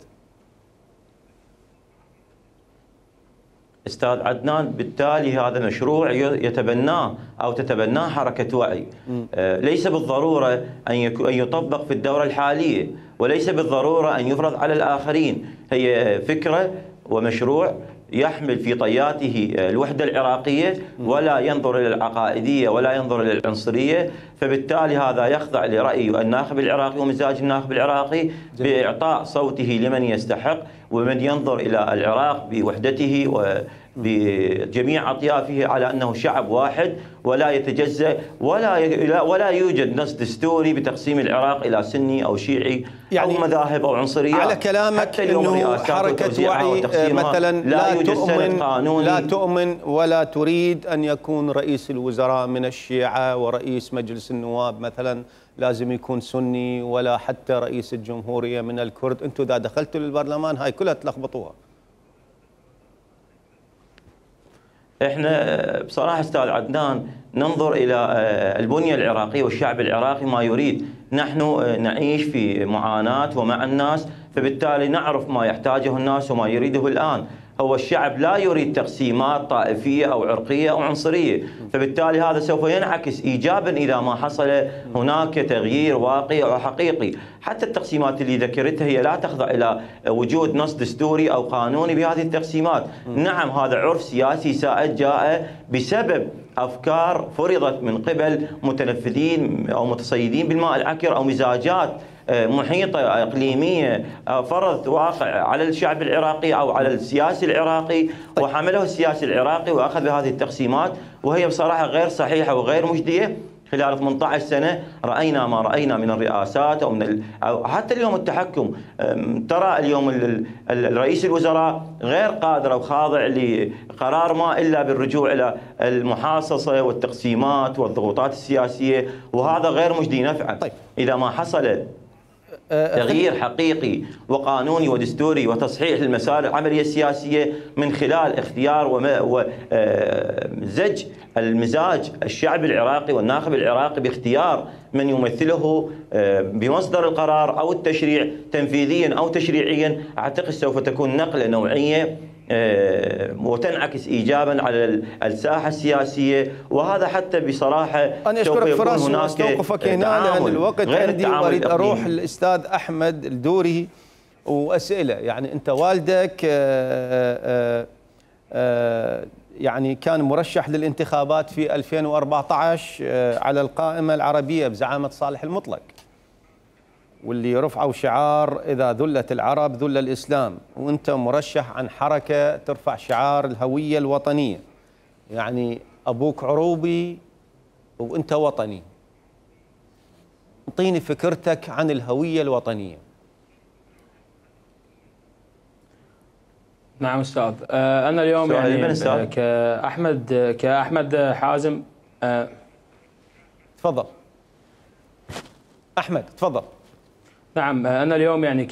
استاذ عدنان، بالتالي هذا مشروع يتبناه او تتبناه حركه وعي، آه ليس بالضروره ان ان يطبق في الدوره الحاليه، وليس بالضروره ان يفرض على الاخرين، هي فكره ومشروع يحمل في طياته الوحده العراقيه ولا ينظر الى العقائديه ولا ينظر الى العنصريه، فبالتالي هذا يخضع لراي الناخب العراقي ومزاج الناخب العراقي باعطاء صوته لمن يستحق ومن ينظر الى العراق بوحدته وبجميع اطيافه على انه شعب واحد ولا يتجزأ، ولا ولا يوجد نص دستوري بتقسيم العراق الى سني او شيعي يعني او مذاهب او عنصريات. على كلامك انه حركه وعي مثلا لا تؤمن لا تؤمن ولا تريد ان يكون رئيس الوزراء من الشيعه ورئيس مجلس النواب مثلا لازم يكون سني، ولا حتى رئيس الجمهوريه من الكرد. انتم اذا دخلتوا للبرلمان هاي كلها تلخبطوها. احنا بصراحه استاذ عدنان ننظر الى البنيه العراقيه والشعب العراقي ما يريد، نحن نعيش في معاناه ومع الناس، فبالتالي نعرف ما يحتاجه الناس وما يريده الان. هو الشعب لا يريد تقسيمات طائفيه او عرقيه او عنصريه، فبالتالي هذا سوف ينعكس ايجابا اذا ما حصل هناك تغيير واقعي او حقيقي. حتى التقسيمات اللي ذكرتها هي لا تخضع الى وجود نص دستوري او قانوني بهذه التقسيمات. نعم هذا عرف سياسي سائد جاء بسبب افكار فرضت من قبل متنفذين او متصيدين بالماء العكر او مزاجات محيطة إقليمية فرضت واقع على الشعب العراقي أو على السياسي العراقي، وحمله السياسي العراقي وأخذ هذه التقسيمات، وهي بصراحة غير صحيحة وغير مجدية. خلال ثمانية عشر سنة رأينا ما رأينا من الرئاسات أو من ال... أو حتى اليوم التحكم. ترى اليوم ال... الرئيس الوزراء غير قادر أو خاضع لقرار ما إلا بالرجوع إلى المحاصصة والتقسيمات والضغوطات السياسية، وهذا غير مجدي نفعا. طيب. إذا ما حصل تغيير حقيقي وقانوني ودستوري وتصحيح للمسار العملية السياسية من خلال اختيار وزج المزاج الشعب العراقي والناخب العراقي باختيار من يمثله بمصدر القرار أو التشريع تنفيذيا أو تشريعيا، أعتقد سوف تكون نقلة نوعية وتنعكس ايجابا على الساحه السياسيه. وهذا حتى بصراحه انا اشكرك فراس واستوقفك هنا لان الوقت عندي واريد اروح للاستاذ احمد الدوري واسئله. يعني انت والدك آآ آآ يعني كان مرشح للانتخابات في ألفين وأربعة عشر على القائمه العربيه بزعامه صالح المطلق، واللي رفعوا شعار إذا ذلت العرب ذل الإسلام، وأنت مرشح عن حركة ترفع شعار الهوية الوطنية. يعني أبوك عروبي وأنت وطني. اعطيني فكرتك عن الهوية الوطنية. نعم أستاذ، أنا اليوم يعني كأحمد كأحمد حازم. تفضل أحمد، تفضل. نعم أنا اليوم يعني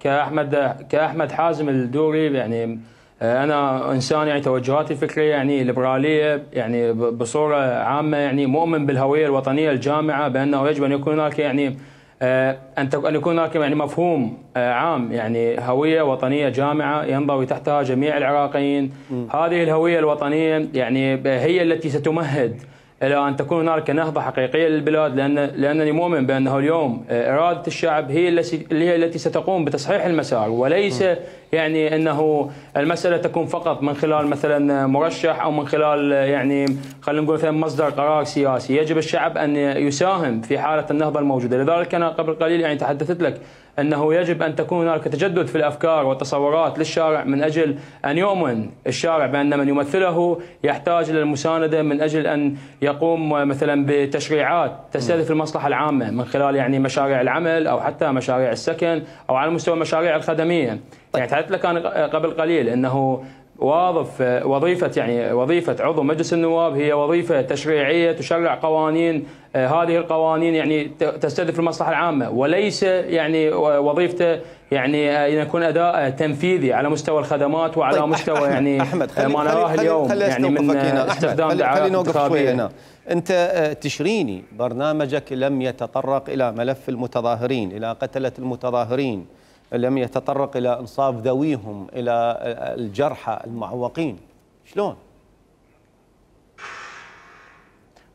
كأحمد كأحمد حازم الدوري، يعني أنا إنسان يعني توجهاتي الفكرية يعني ليبرالية، يعني بصورة عامة يعني مؤمن بالهوية الوطنية الجامعة، بأنه يجب أن يكون هناك يعني أن يكون هناك يعني مفهوم عام، يعني هوية وطنية جامعة ينضوي تحتها جميع العراقيين. هذه الهوية الوطنية يعني هي التي ستمهد إلى أن تكون هناك نهضة حقيقية للبلاد، لأن لأنني مؤمن بأنه اليوم إرادة الشعب هي التي هي التي ستقوم بتصحيح المسار، وليس يعني أنه المسألة تكون فقط من خلال مثلا مرشح أو من خلال يعني خلينا نقول مثلا مصدر قرار سياسي. يجب الشعب أن يساهم في حالة النهضة الموجودة. لذلك أنا قبل قليل يعني تحدثت لك أنه يجب أن تكون هناك تجدد في الأفكار والتصورات للشارع من أجل أن يؤمن الشارع بأن من يمثله يحتاج إلى المساندة من أجل أن يقوم مثلا بتشريعات تستهدف المصلحة العامة من خلال يعني مشاريع العمل أو حتى مشاريع السكن أو على مستوى المشاريع الخدمية. يعني تحدثت لك أنا قبل قليل أنه واظف وظيفة يعني وظيفة عضو مجلس النواب هي وظيفة تشريعية تشرع قوانين، هذه القوانين يعني تستهدف المصلحة العامة، وليس يعني وظيفته يعني أن يكون أداء تنفيذي على مستوى الخدمات وعلى طيب مستوى أحمد يعني أحمد خلي ما نراه اليوم خلي يعني من استخدام دعايات انتخابية. هنا. أنت تشريني برنامجك لم يتطرق إلى ملف المتظاهرين، إلى قتلة المتظاهرين، لم يتطرق إلى إنصاف ذويهم، إلى الجرحى المعوقين، شلون؟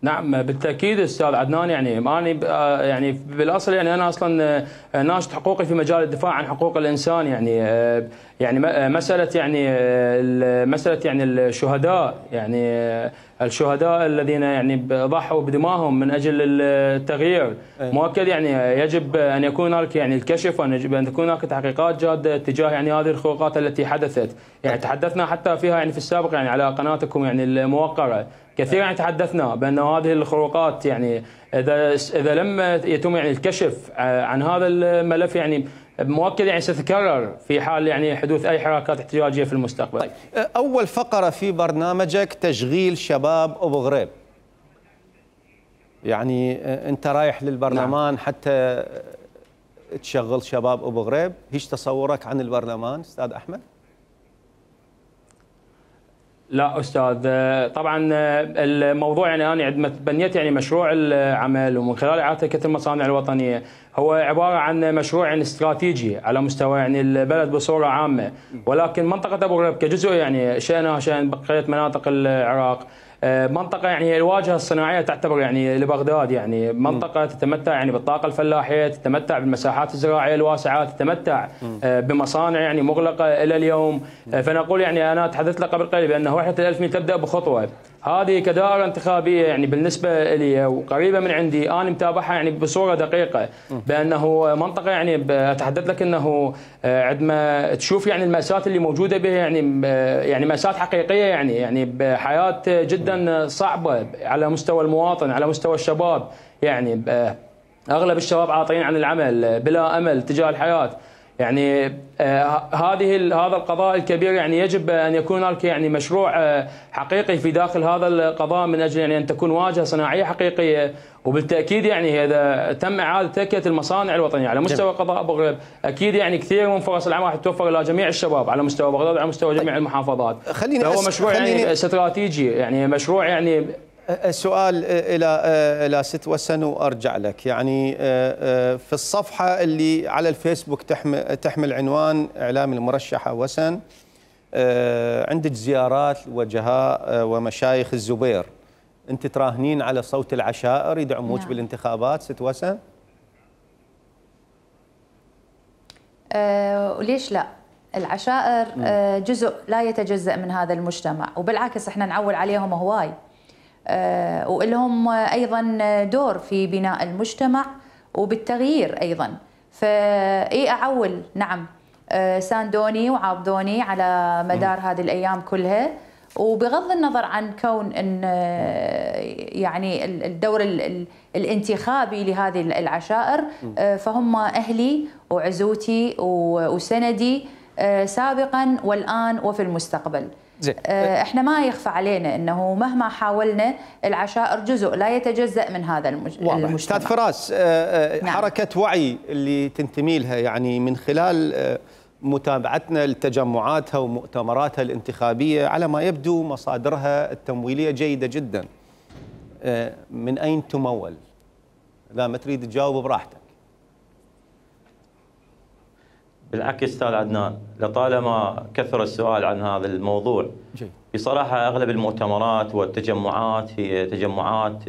نعم بالتاكيد استاذ عدنان، يعني ماني يعني بالاصل يعني انا اصلا ناشط حقوقي في مجال الدفاع عن حقوق الانسان، يعني يعني مساله يعني مساله يعني الشهداء، يعني الشهداء الذين يعني ضحوا بدمائهم من اجل التغيير، مؤكد يعني يجب ان يكون هناك يعني الكشف وان يجب ان تكون هناك تحقيقات جاده تجاه يعني هذه الخروقات التي حدثت، يعني تحدثنا حتى فيها يعني في السابق يعني على قناتكم يعني الموقره كثيرا يعني تحدثنا بأن هذه الخروقات يعني إذا إذا لم يتم يعني الكشف عن هذا الملف يعني مؤكد يعني ستتكرر في حال يعني حدوث أي حركات احتجاجية في المستقبل. طيب أول فقرة في برنامجك تشغيل شباب أبو غريب، يعني أنت رايح للبرلمان نعم. حتى تشغل شباب أبو غريب، ايش تصورك عن البرلمان أستاذ أحمد؟ لا استاذ، طبعا الموضوع يعني انا عندما بنيت يعني مشروع العمل ومن خلال اعاده كثر المصانع الوطنيه هو عباره عن مشروع يعني استراتيجي على مستوى يعني البلد بصوره عامه، ولكن منطقه ابو غريب كجزء يعني شئنا شان بقيه مناطق العراق منطقة يعني الواجهة الصناعية تعتبر يعني لبغداد، يعني منطقة تتمتع يعني بالطاقة الفلاحية، تتمتع بالمساحات الزراعية الواسعة، تتمتع بمصانع يعني مغلقة إلى اليوم، فنقول يعني أنا تحدثت لك قبل قليل بأن وحدة الألف ميل تبدأ بخطوة، هذه كدائرة انتخابية يعني بالنسبة لي وقريبة من عندي أنا متابعها يعني بصورة دقيقة، بأنه منطقة يعني أتحدث لك أنه عندما تشوف يعني المأساة اللي موجودة بها يعني يعني مأساة حقيقية، يعني يعني بحياة جدا صعبة على مستوى المواطن، على مستوى الشباب، يعني أغلب الشباب عاطلين عن العمل بلا أمل تجاه الحياة، يعني آه هذه هذا القضاء الكبير يعني يجب ان يكون هناك يعني مشروع آه حقيقي في داخل هذا القضاء من اجل يعني ان تكون واجهه صناعيه حقيقيه، وبالتاكيد يعني اذا تم اعاده تكيه المصانع الوطنيه على مستوى قضاء ابو غريب اكيد يعني كثير من فرص العمل راح تتوفر الى جميع الشباب على مستوى بغداد وعلى مستوى جميع المحافظات. خليني هو مشروع خليني يعني استراتيجي، يعني مشروع يعني السؤال الى الى ست وسن وارجع لك، يعني في الصفحه اللي على الفيسبوك تحمل تحمل عنوان اعلام المرشحه وسن، عندك زيارات لوجهاء ومشايخ الزبير، انت تراهنين على صوت العشائر يدعموك نعم. بالانتخابات ست وسن؟ أه وليش لا؟ العشائر أه جزء لا يتجزأ من هذا المجتمع، وبالعكس احنا نعول عليهم هواي، أه ولهم ايضا دور في بناء المجتمع وبالتغيير ايضا، فاي اعول نعم أه ساندوني وعاضدوني على مدار هذه الايام كلها، وبغض النظر عن كون ان يعني الدور الانتخابي لهذه العشائر فهم اهلي وعزوتي وسندي سابقا والان وفي المستقبل. زي. احنا ما يخفى علينا انه مهما حاولنا العشائر جزء لا يتجزأ من هذا المجتمع. استاذ فراس، حركه نعم. وعي اللي تنتمي لها يعني من خلال متابعتنا لتجمعاتها ومؤتمراتها الانتخابية على ما يبدو مصادرها التمويلية جيدة جدا، من أين تمول؟ لا ما تريد تجاوب براحتك. بالعكس أستاذ عدنان، لطالما كثر السؤال عن هذا الموضوع جي. بصراحة أغلب المؤتمرات والتجمعات هي تجمعات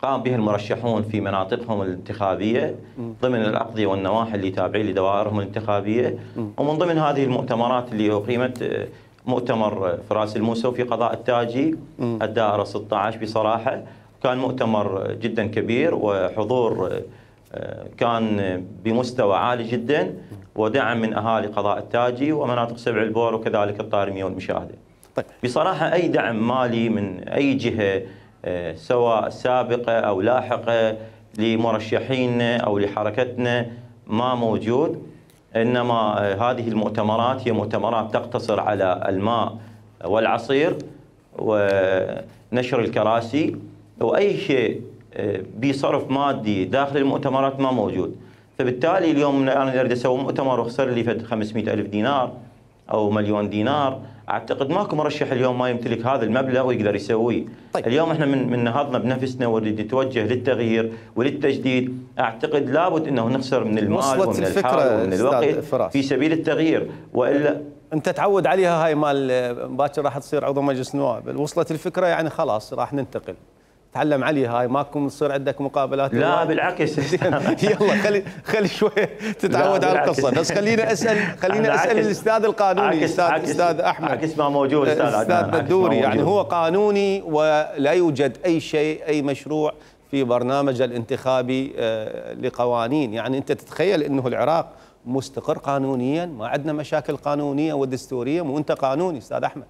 قام بها المرشحون في مناطقهم الانتخابية ضمن الأقضية والنواحي اللي تابعين لدوائرهم الانتخابية، ومن ضمن هذه المؤتمرات اللي أقيمت مؤتمر فراس الموسوي في قضاء التاجي الدائرة ستة عشر، بصراحة كان مؤتمر جدا كبير وحضور كان بمستوى عالي جدا، ودعم من اهالي قضاء التاجي ومناطق سبع البور وكذلك الطارميه والمشاهده. طيب. بصراحه اي دعم مالي من اي جهه سواء سابقه او لاحقه لمرشحينا او لحركتنا ما موجود، انما هذه المؤتمرات هي مؤتمرات تقتصر على الماء والعصير ونشر الكراسي، واي شيء بصرف مادي داخل المؤتمرات ما موجود. فبالتالي اليوم انا اريد اسوي مؤتمر واخسر لي فد خمسمئة ألف دينار او مليون دينار، اعتقد ماكو مرشح اليوم ما يمتلك هذا المبلغ ويقدر يسويه. طيب. اليوم احنا من من نهضنا بنفسنا ونريد نتوجه للتغيير وللتجديد، اعتقد لابد انه نخسر من المال ومن الحال ومن الوقت في سبيل التغيير، والا انت تعود عليها هاي مال باكر راح تصير عضو مجلس نواب، وصلت الفكره يعني خلاص راح ننتقل. تعلم عليها هاي، ماكو تصير عندك مقابلات؟ لا بالعكس. يلا خلي خلي شويه تتعود على القصه، بس خلينا اسال خلينا اسال الاستاذ القانوني الاستاذ استاذ احمد عكس ما موجود استاذ استاذ بدوري. يعني هو قانوني ولا يوجد اي شيء اي مشروع في برنامج الانتخابي لقوانين، يعني انت تتخيل انه العراق مستقر قانونيا، ما عندنا مشاكل قانونيه ودستوريه، وانت قانوني استاذ احمد.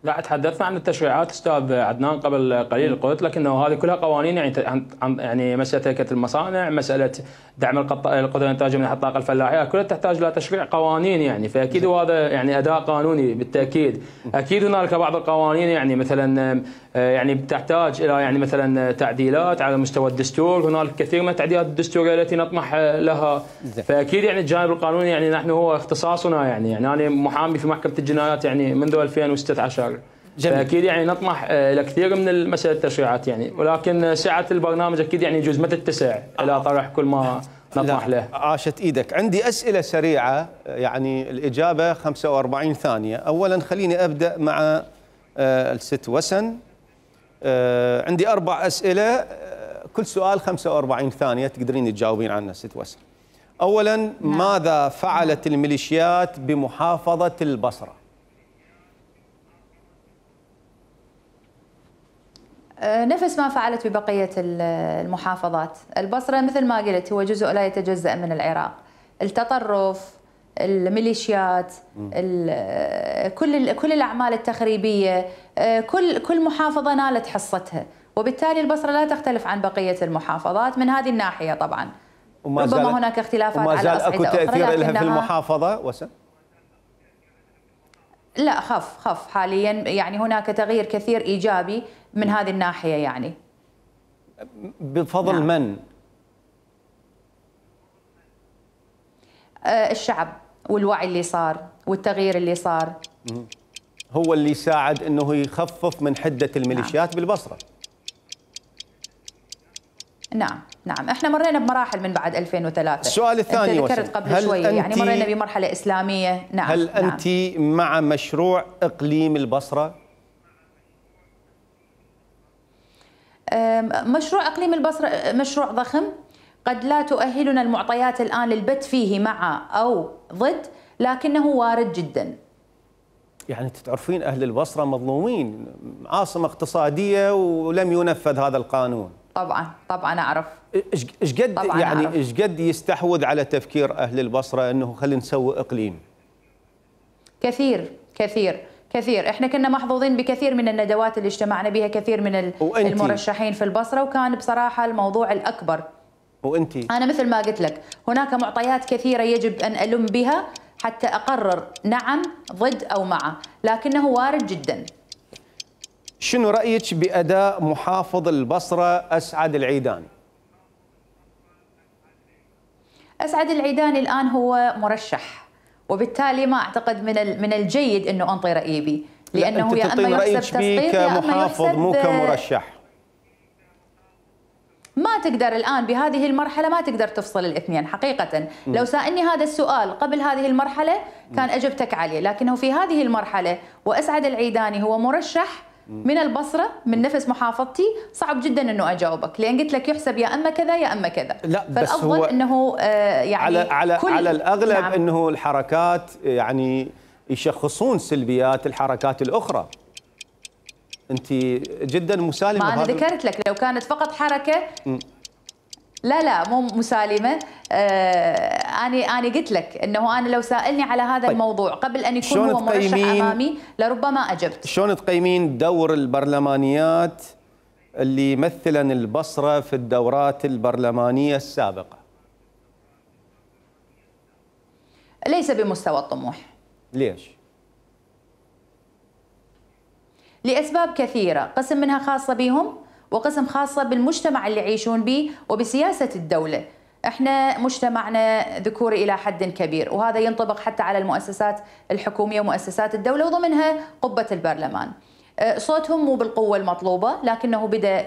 لا تحدثنا عن التشريعات استاذ عدنان قبل قليل، قلت لك انه هذه كلها قوانين، يعني يعني مساله هيكله المصانع، مساله دعم القدره الانتاجيه من الطاقه الفلاحيه، كلها تحتاج الى تشريع قوانين يعني، فاكيد وهذا يعني اداء قانوني بالتاكيد. اكيد هنالك بعض القوانين يعني مثلا يعني تحتاج الى يعني مثلا تعديلات على مستوى الدستور، هنالك كثير من التعديلات الدستوريه التي نطمح لها، فاكيد يعني الجانب القانوني يعني نحن هو اختصاصنا يعني، يعني انا محامي في محكمه الجنايات يعني منذ ألفين وستة عشر. جميل. فاكيد يعني نطمح الى كثير من المسائل التشريعات يعني، ولكن سعه البرنامج اكيد يعني يجوز ما تتسع الى طرح كل ما نطمح له. عاشت ايدك. عندي اسئله سريعه يعني الاجابه خمسة وأربعين ثانيه. اولا خليني ابدا مع الست وسن. عندي اربع اسئله كل سؤال خمسة وأربعين ثانيه تقدرين تجاوبين عنها ست وسن. اولا نعم. ماذا فعلت الميليشيات بمحافظه البصره؟ نفس ما فعلت ببقية المحافظات. البصرة مثل ما قلت هو جزء لا يتجزأ من العراق. التطرف، الميليشيات، كل كل الأعمال التخريبية، كل كل محافظة نالت حصتها، وبالتالي البصرة لا تختلف عن بقية المحافظات من هذه الناحية طبعا. ربما هناك اختلافات على أصعدة أخرى، وما زال أكو تأثير لها في المحافظة وسن؟ لا خف خف حاليا، يعني هناك تغيير كثير إيجابي من هذه الناحية يعني. بفضل نعم. من؟ آه الشعب والوعي اللي صار والتغيير اللي صار هو اللي ساعد انه يخفف من حدة الميليشيات نعم. بالبصرة. نعم نعم احنا مرينا بمراحل من بعد ألفين وثلاثة. السؤال الثاني انت ذكرت قبل شوية يعني مرينا بمرحلة إسلامية. نعم هل نعم. أنت مع مشروع إقليم البصرة؟ مشروع إقليم البصرة مشروع ضخم، قد لا تؤهلنا المعطيات الآن للبت فيه مع أو ضد، لكنه وارد جدا. يعني تعرفين أهل البصرة مظلومين، عاصمة اقتصادية ولم ينفذ هذا القانون. طبعا طبعا أعرف. إيش قد يعني إيش قد يستحوذ على تفكير أهل البصرة إنه خلينا نسوي إقليم؟ كثير كثير كثير، احنا كنا محظوظين بكثير من الندوات اللي اجتمعنا بها كثير من المرشحين في البصرة، وكان بصراحة الموضوع الأكبر. وانتي؟ أنا مثل ما قلت لك هناك معطيات كثيرة يجب أن ألم بها حتى أقرر نعم ضد أو مع، لكنه وارد جدا. شنو رأيك بأداء محافظ البصرة أسعد العيداني؟ أسعد العيداني الآن هو مرشح، وبالتالي ما أعتقد من من الجيد أنه أنطي رأيي به، لأنه يا أما يحسب تسقيط يا أما كمحافظ مو كمرشح. ما تقدر الآن بهذه المرحلة ما تقدر تفصل الاثنين حقيقة. م. لو سألني هذا السؤال قبل هذه المرحلة كان أجبتك عليه، لكنه في هذه المرحلة وأسعد العيداني هو مرشح من البصرة من نفس محافظتي، صعب جدا انه اجاوبك، لان قلت لك يحسب يا اما كذا يا اما كذا. لا بس فالافضل هو انه آه يعني على على كل على الاغلب نعم. انه الحركات يعني يشخصون سلبيات الحركات الاخرى. انت جدا مسالمه. ما انا ذكرت لك لو كانت فقط حركه م. لا لا مو مسالمه. آه اني اني قلت لك انه انا لو سالني على هذا طيب. الموضوع قبل ان يكون هو مرشح امامي لربما اجبت. شلون تقيمين دور البرلمانيات اللي مثلا البصره في الدورات البرلمانيه السابقه؟ ليس بمستوى الطموح. ليش؟ لاسباب كثيره، قسم منها خاصه بهم وقسم خاصة بالمجتمع اللي يعيشون به وبسياسة الدولة. احنا مجتمعنا ذكوري إلى حد كبير، وهذا ينطبق حتى على المؤسسات الحكومية ومؤسسات الدولة وضمنها قبة البرلمان. صوتهم مو بالقوة المطلوبة، لكنه بدأ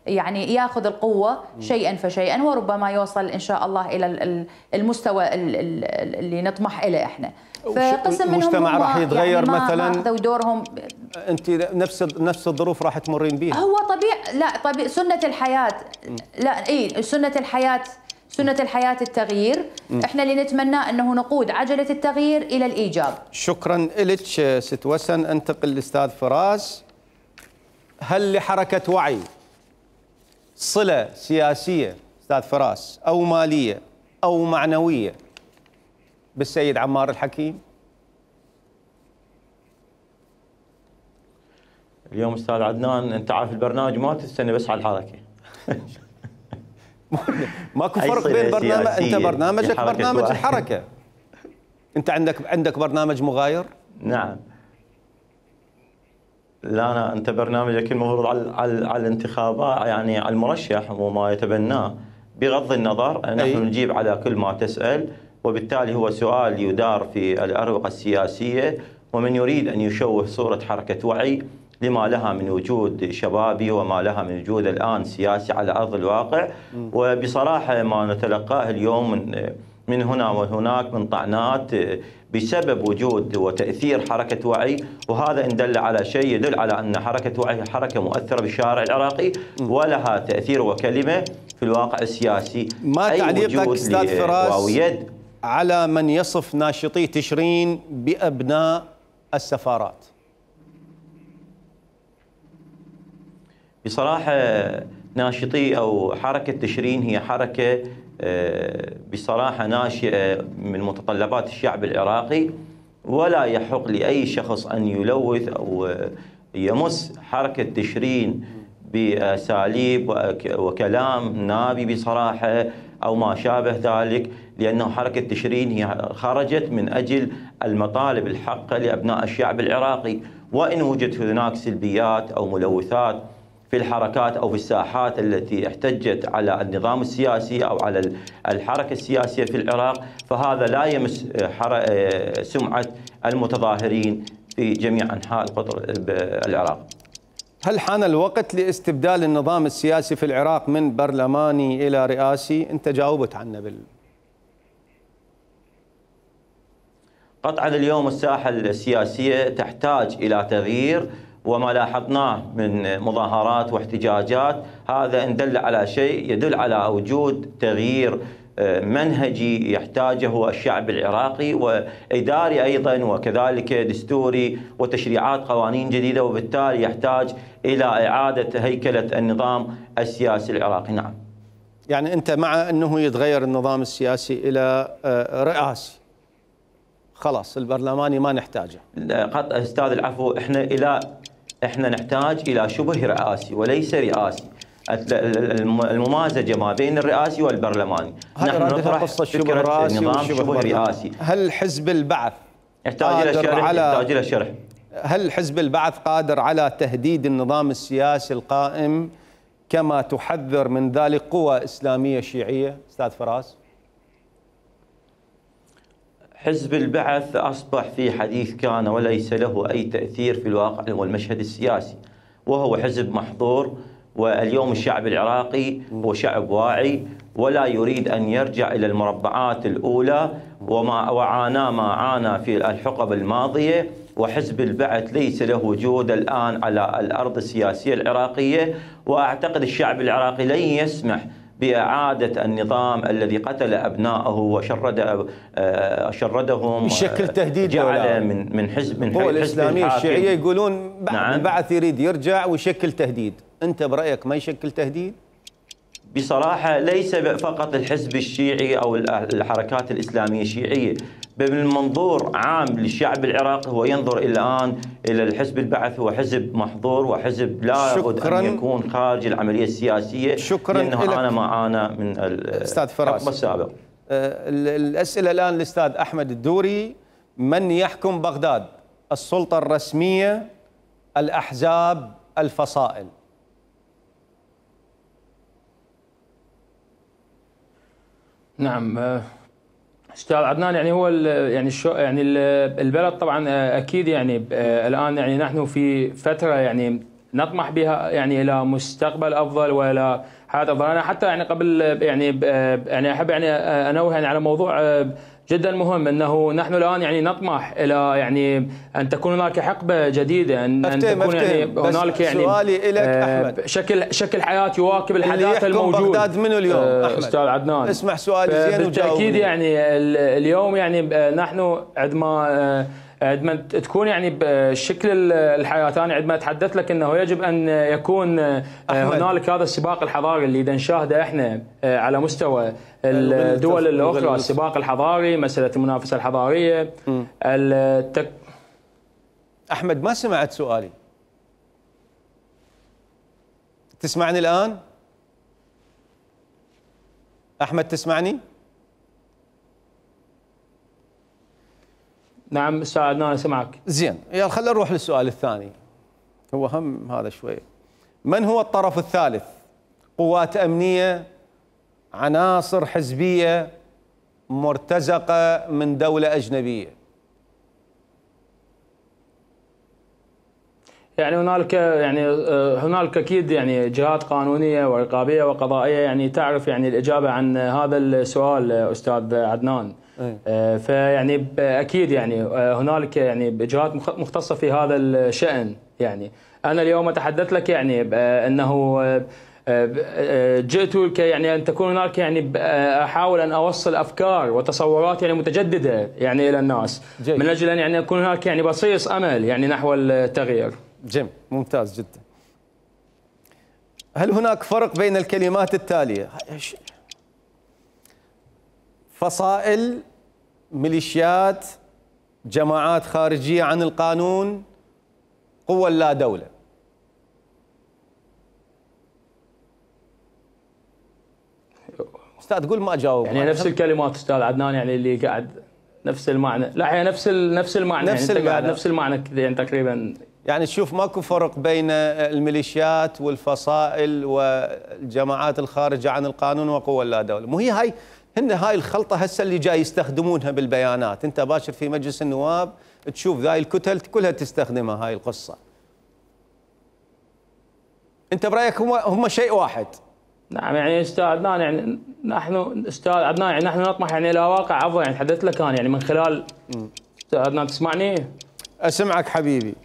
يعني ياخذ القوة شيئا فشيئا، وربما يوصل إن شاء الله إلى المستوى اللي نطمح إليه احنا. فقسم منهم المجتمع راح يتغير يعني مثلا اخذوا دورهم. انت نفس نفس الظروف راح تمرين بيها. هو طبيعي، لا طبيعي سنة الحياة. لا اي سنة الحياة، سنة الحياة التغيير. م. احنا اللي نتمناه انه نقود عجلة التغيير الى الايجاب. شكرا لك ست وسن. انتقل للاستاذ فراس. هل لحركة وعي صلة سياسية استاذ فراس او مالية او معنوية بالسيد عمار الحكيم؟ اليوم استاذ عدنان انت عارف البرنامج ما تستنى بس على الحركه. ماكو فرق بين برنامج، انت برنامجك برنامج الحركه. انت عندك عندك برنامج مغاير؟ نعم. لا انا انت برنامجك المفروض على على, على الانتخابات، يعني على المرشح وما يتبناه بغض النظر. نحن أي. نجيب على كل ما تسال، وبالتالي هو سؤال يدار في الأروقة السياسية، ومن يريد أن يشوه صورة حركة وعي لما لها من وجود شبابي وما لها من وجود الآن سياسي على أرض الواقع. وبصراحة ما نتلقاه اليوم من من هنا وهناك من طعنات بسبب وجود وتأثير حركة وعي، وهذا إن دل على شيء يدل على أن حركة وعي حركة مؤثرة بالشارع العراقي ولها تأثير وكلمة في الواقع السياسي. ما تعليقك أستاذ فراس على من يصف ناشطي تشرين بأبناء السفارات؟ بصراحة ناشطي أو حركة تشرين هي حركة بصراحة ناشئة من متطلبات الشعب العراقي، ولا يحق لأي شخص أن يلوث أو يمس حركة تشرين بأساليب وكلام نابي بصراحة أو ما شابه ذلك، لأنه حركة تشرين هي خرجت من أجل المطالب الحقة لأبناء الشعب العراقي. وإن وجدت هناك سلبيات أو ملوثات في الحركات أو في الساحات التي احتجت على النظام السياسي أو على الحركة السياسية في العراق، فهذا لا يمس سمعة المتظاهرين في جميع أنحاء القطر العراق. هل حان الوقت لاستبدال النظام السياسي في العراق من برلماني إلى رئاسي؟ أنت جاوبت عنه بال قطعا اليوم الساحة السياسية تحتاج إلى تغيير، وما لاحظناه من مظاهرات واحتجاجات هذا إن دل على شيء يدل على وجود تغيير منهجي يحتاجه الشعب العراقي، وإداري أيضا وكذلك دستوري وتشريعات قوانين جديدة، وبالتالي يحتاج إلى إعادة هيكلة النظام السياسي العراقي. نعم. يعني أنت مع أنه يتغير النظام السياسي إلى رئاسي؟ خلاص البرلماني ما نحتاجه. قط أستاذ العفو، إحنا إلى إحنا نحتاج إلى شبه رئاسي وليس رئاسي، الممازجة ما بين الرئاسي والبرلماني. نحن نطرح فكرة نظام شبه رئاسي. هل حزب البعث يحتاج إلى شرح؟ يحتاج إلى شرح. هل حزب البعث قادر على تهديد النظام السياسي القائم كما تحذر من ذلك قوى إسلامية شيعية أستاذ فراس؟ حزب البعث أصبح في حديث كان وليس له أي تأثير في الواقع والمشهد السياسي، وهو حزب محظور. واليوم الشعب العراقي هو شعب واعي ولا يريد أن يرجع إلى المربعات الأولى وما وعانى ما عانى في الحقب الماضية. وحزب البعث ليس له وجود الآن على الأرض السياسية العراقية، وأعتقد الشعب العراقي لن يسمح بإعادة النظام الذي قتل أبنائه وشرد شردهم بشكل تهديد جعل من من حزب من القوى الإسلامية الشيعية يقولون نعم. البعث يريد يرجع ويشكل تهديد، أنت برأيك ما يشكل تهديد؟ بصراحة ليس فقط الحزب الشيعي أو الحركات الإسلامية الشيعية، بل من منظور عام للشعب العراقي هو ينظر الآن إلى الحزب البعث هو حزب محظور وحزب لا بد أن يكون خارج العملية السياسية. شكرا لأنه عانى ما عانى من الحقبة السابقة. الأسئلة الآن للأستاذ أحمد الدوري. من يحكم بغداد؟ السلطة الرسمية، الأحزاب، الفصائل؟ نعم استاذ عدنان، يعني هو يعني الشو يعني البلد طبعا اكيد يعني الان يعني نحن في فتره يعني نطمح بها يعني الى مستقبل افضل والى حياه افضل. انا حتى يعني قبل يعني يعني احب يعني انوه يعني على موضوع جدا مهم، انه نحن الان يعني نطمح الى يعني ان تكون هناك حقبه جديده، ان, أن تكون يعني هنالك يعني سؤالي لك أحمد. شكل شكل حياه يواكب الحداثه الموجود. بغداد منو اليوم أحمد؟ استاذ عدنان اسمع سؤالي زين وجاوبني. بالتاكيد يعني اليوم يعني نحن عندما عندما تكون يعني بشكل الحياه، انا عندما اتحدث لك انه يجب ان يكون هنالك هذا السباق الحضاري اللي اذا نشاهده احنا على مستوى الدول الاخرى، السباق الحضاري، مساله المنافسه الحضاريه. التك... احمد ما سمعت سؤالي، تسمعني الان؟ احمد تسمعني؟ نعم استاذ عدنان انا سمعك. زين، يلا خلينا نروح للسؤال الثاني، هو هم هذا شوي. من هو الطرف الثالث؟ قوات امنيه، عناصر حزبيه، مرتزقه من دوله اجنبيه؟ يعني هنالك يعني هنالك اكيد يعني جهات قانونيه ورقابيه وقضائيه يعني تعرف يعني الاجابه عن هذا السؤال استاذ عدنان. أيه. فيعني اكيد يعني هنالك يعني جهات مختصه في هذا الشأن. يعني انا اليوم اتحدث لك يعني انه جئت كي يعني ان تكون هناك يعني احاول ان اوصل افكار وتصورات يعني متجدده يعني الى الناس، جي. من اجل ان يعني يكون هناك يعني بصيص امل يعني نحو التغيير. جم ممتاز جدا. هل هناك فرق بين الكلمات التاليه؟ فصائل، ميليشيات، جماعات خارجيه عن القانون، قوى لا دوله. استاذ تقول ما اجاوب. يعني نفس الكلمات استاذ عدنان يعني اللي قاعد نفس المعنى. لا هي نفس نفس المعنى نفس يعني المعنى. قاعد نفس المعنى يعني تقريبا. يعني تشوف ماكو فرق بين الميليشيات والفصائل والجماعات الخارجه عن القانون وقوى لا دوله، مو هي هاي هن هاي الخلطه هسه اللي جاي يستخدمونها بالبيانات، انت باشر في مجلس النواب تشوف ذاي الكتل كلها تستخدمها هاي القصه. انت برايك هم هم شيء واحد؟ نعم يعني استاذ عدنان يعني نحن استاذ عدنان يعني نحن نطمح يعني الى واقع افضل. يعني تحدثت لك انا يعني من خلال استاذ عدنان تسمعني؟ اسمعك حبيبي.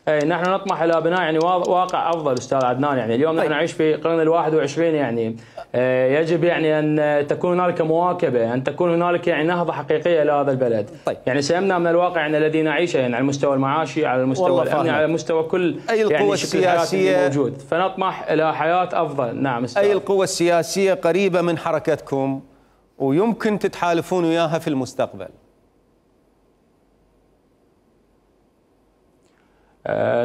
اي نحن نطمح الى بناء يعني واقع افضل استاذ عدنان. يعني اليوم نحن نعيش في القرن الواحد والعشرين، يعني يجب يعني ان تكون هنالك مواكبه، ان تكون هنالك يعني نهضه حقيقيه لهذا البلد. طيب. يعني سيمنع من الواقع يعني الذي نعيشه يعني على المستوى المعاشي، على المستوى الامني، على مستوى كل أي القوى يعني السياسيه موجود، فنطمح الى حياه افضل. نعم استاذ. اي القوى السياسيه قريبه من حركتكم ويمكن تتحالفون وياها في المستقبل؟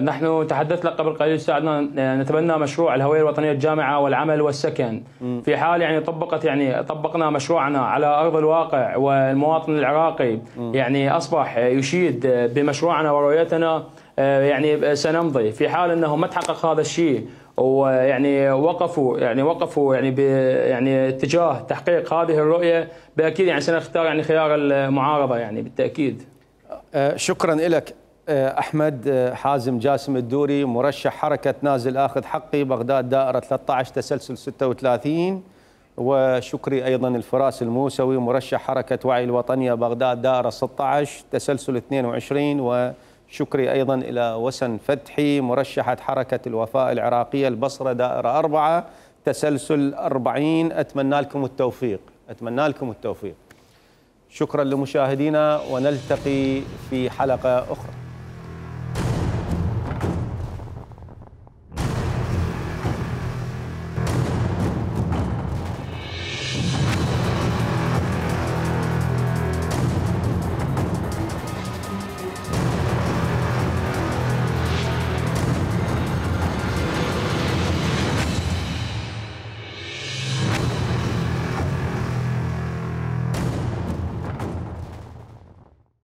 نحن تحدثنا قبل قليل استاذ عدنان نتبنى مشروع الهويه الوطنيه الجامعه والعمل والسكن. م. في حال يعني طبقت يعني طبقنا مشروعنا على ارض الواقع والمواطن العراقي م. يعني اصبح يشيد بمشروعنا ورؤيتنا، يعني سنمضي. في حال انه ما تحقق هذا الشيء ويعني وقفوا يعني وقفوا يعني يعني اتجاه تحقيق هذه الرؤيه، باكيد يعني سنختار يعني خيار المعارضه يعني بالتاكيد. شكرا لك أحمد حازم جاسم الدوري، مرشح حركة نازل آخذ حقي بغداد دائرة ثلاثة عشر تسلسل ستة وثلاثين، وشكري أيضا الفراس الموسوي مرشح حركة وعي الوطنية بغداد دائرة ستة عشر تسلسل اثنين وعشرين، وشكري أيضا إلى وسن فتحي مرشحة حركة الوفاء العراقية البصرة دائرة أربعة تسلسل أربعين. أتمنى لكم التوفيق، أتمنى لكم التوفيق. شكرا لمشاهدينا ونلتقي في حلقة أخرى.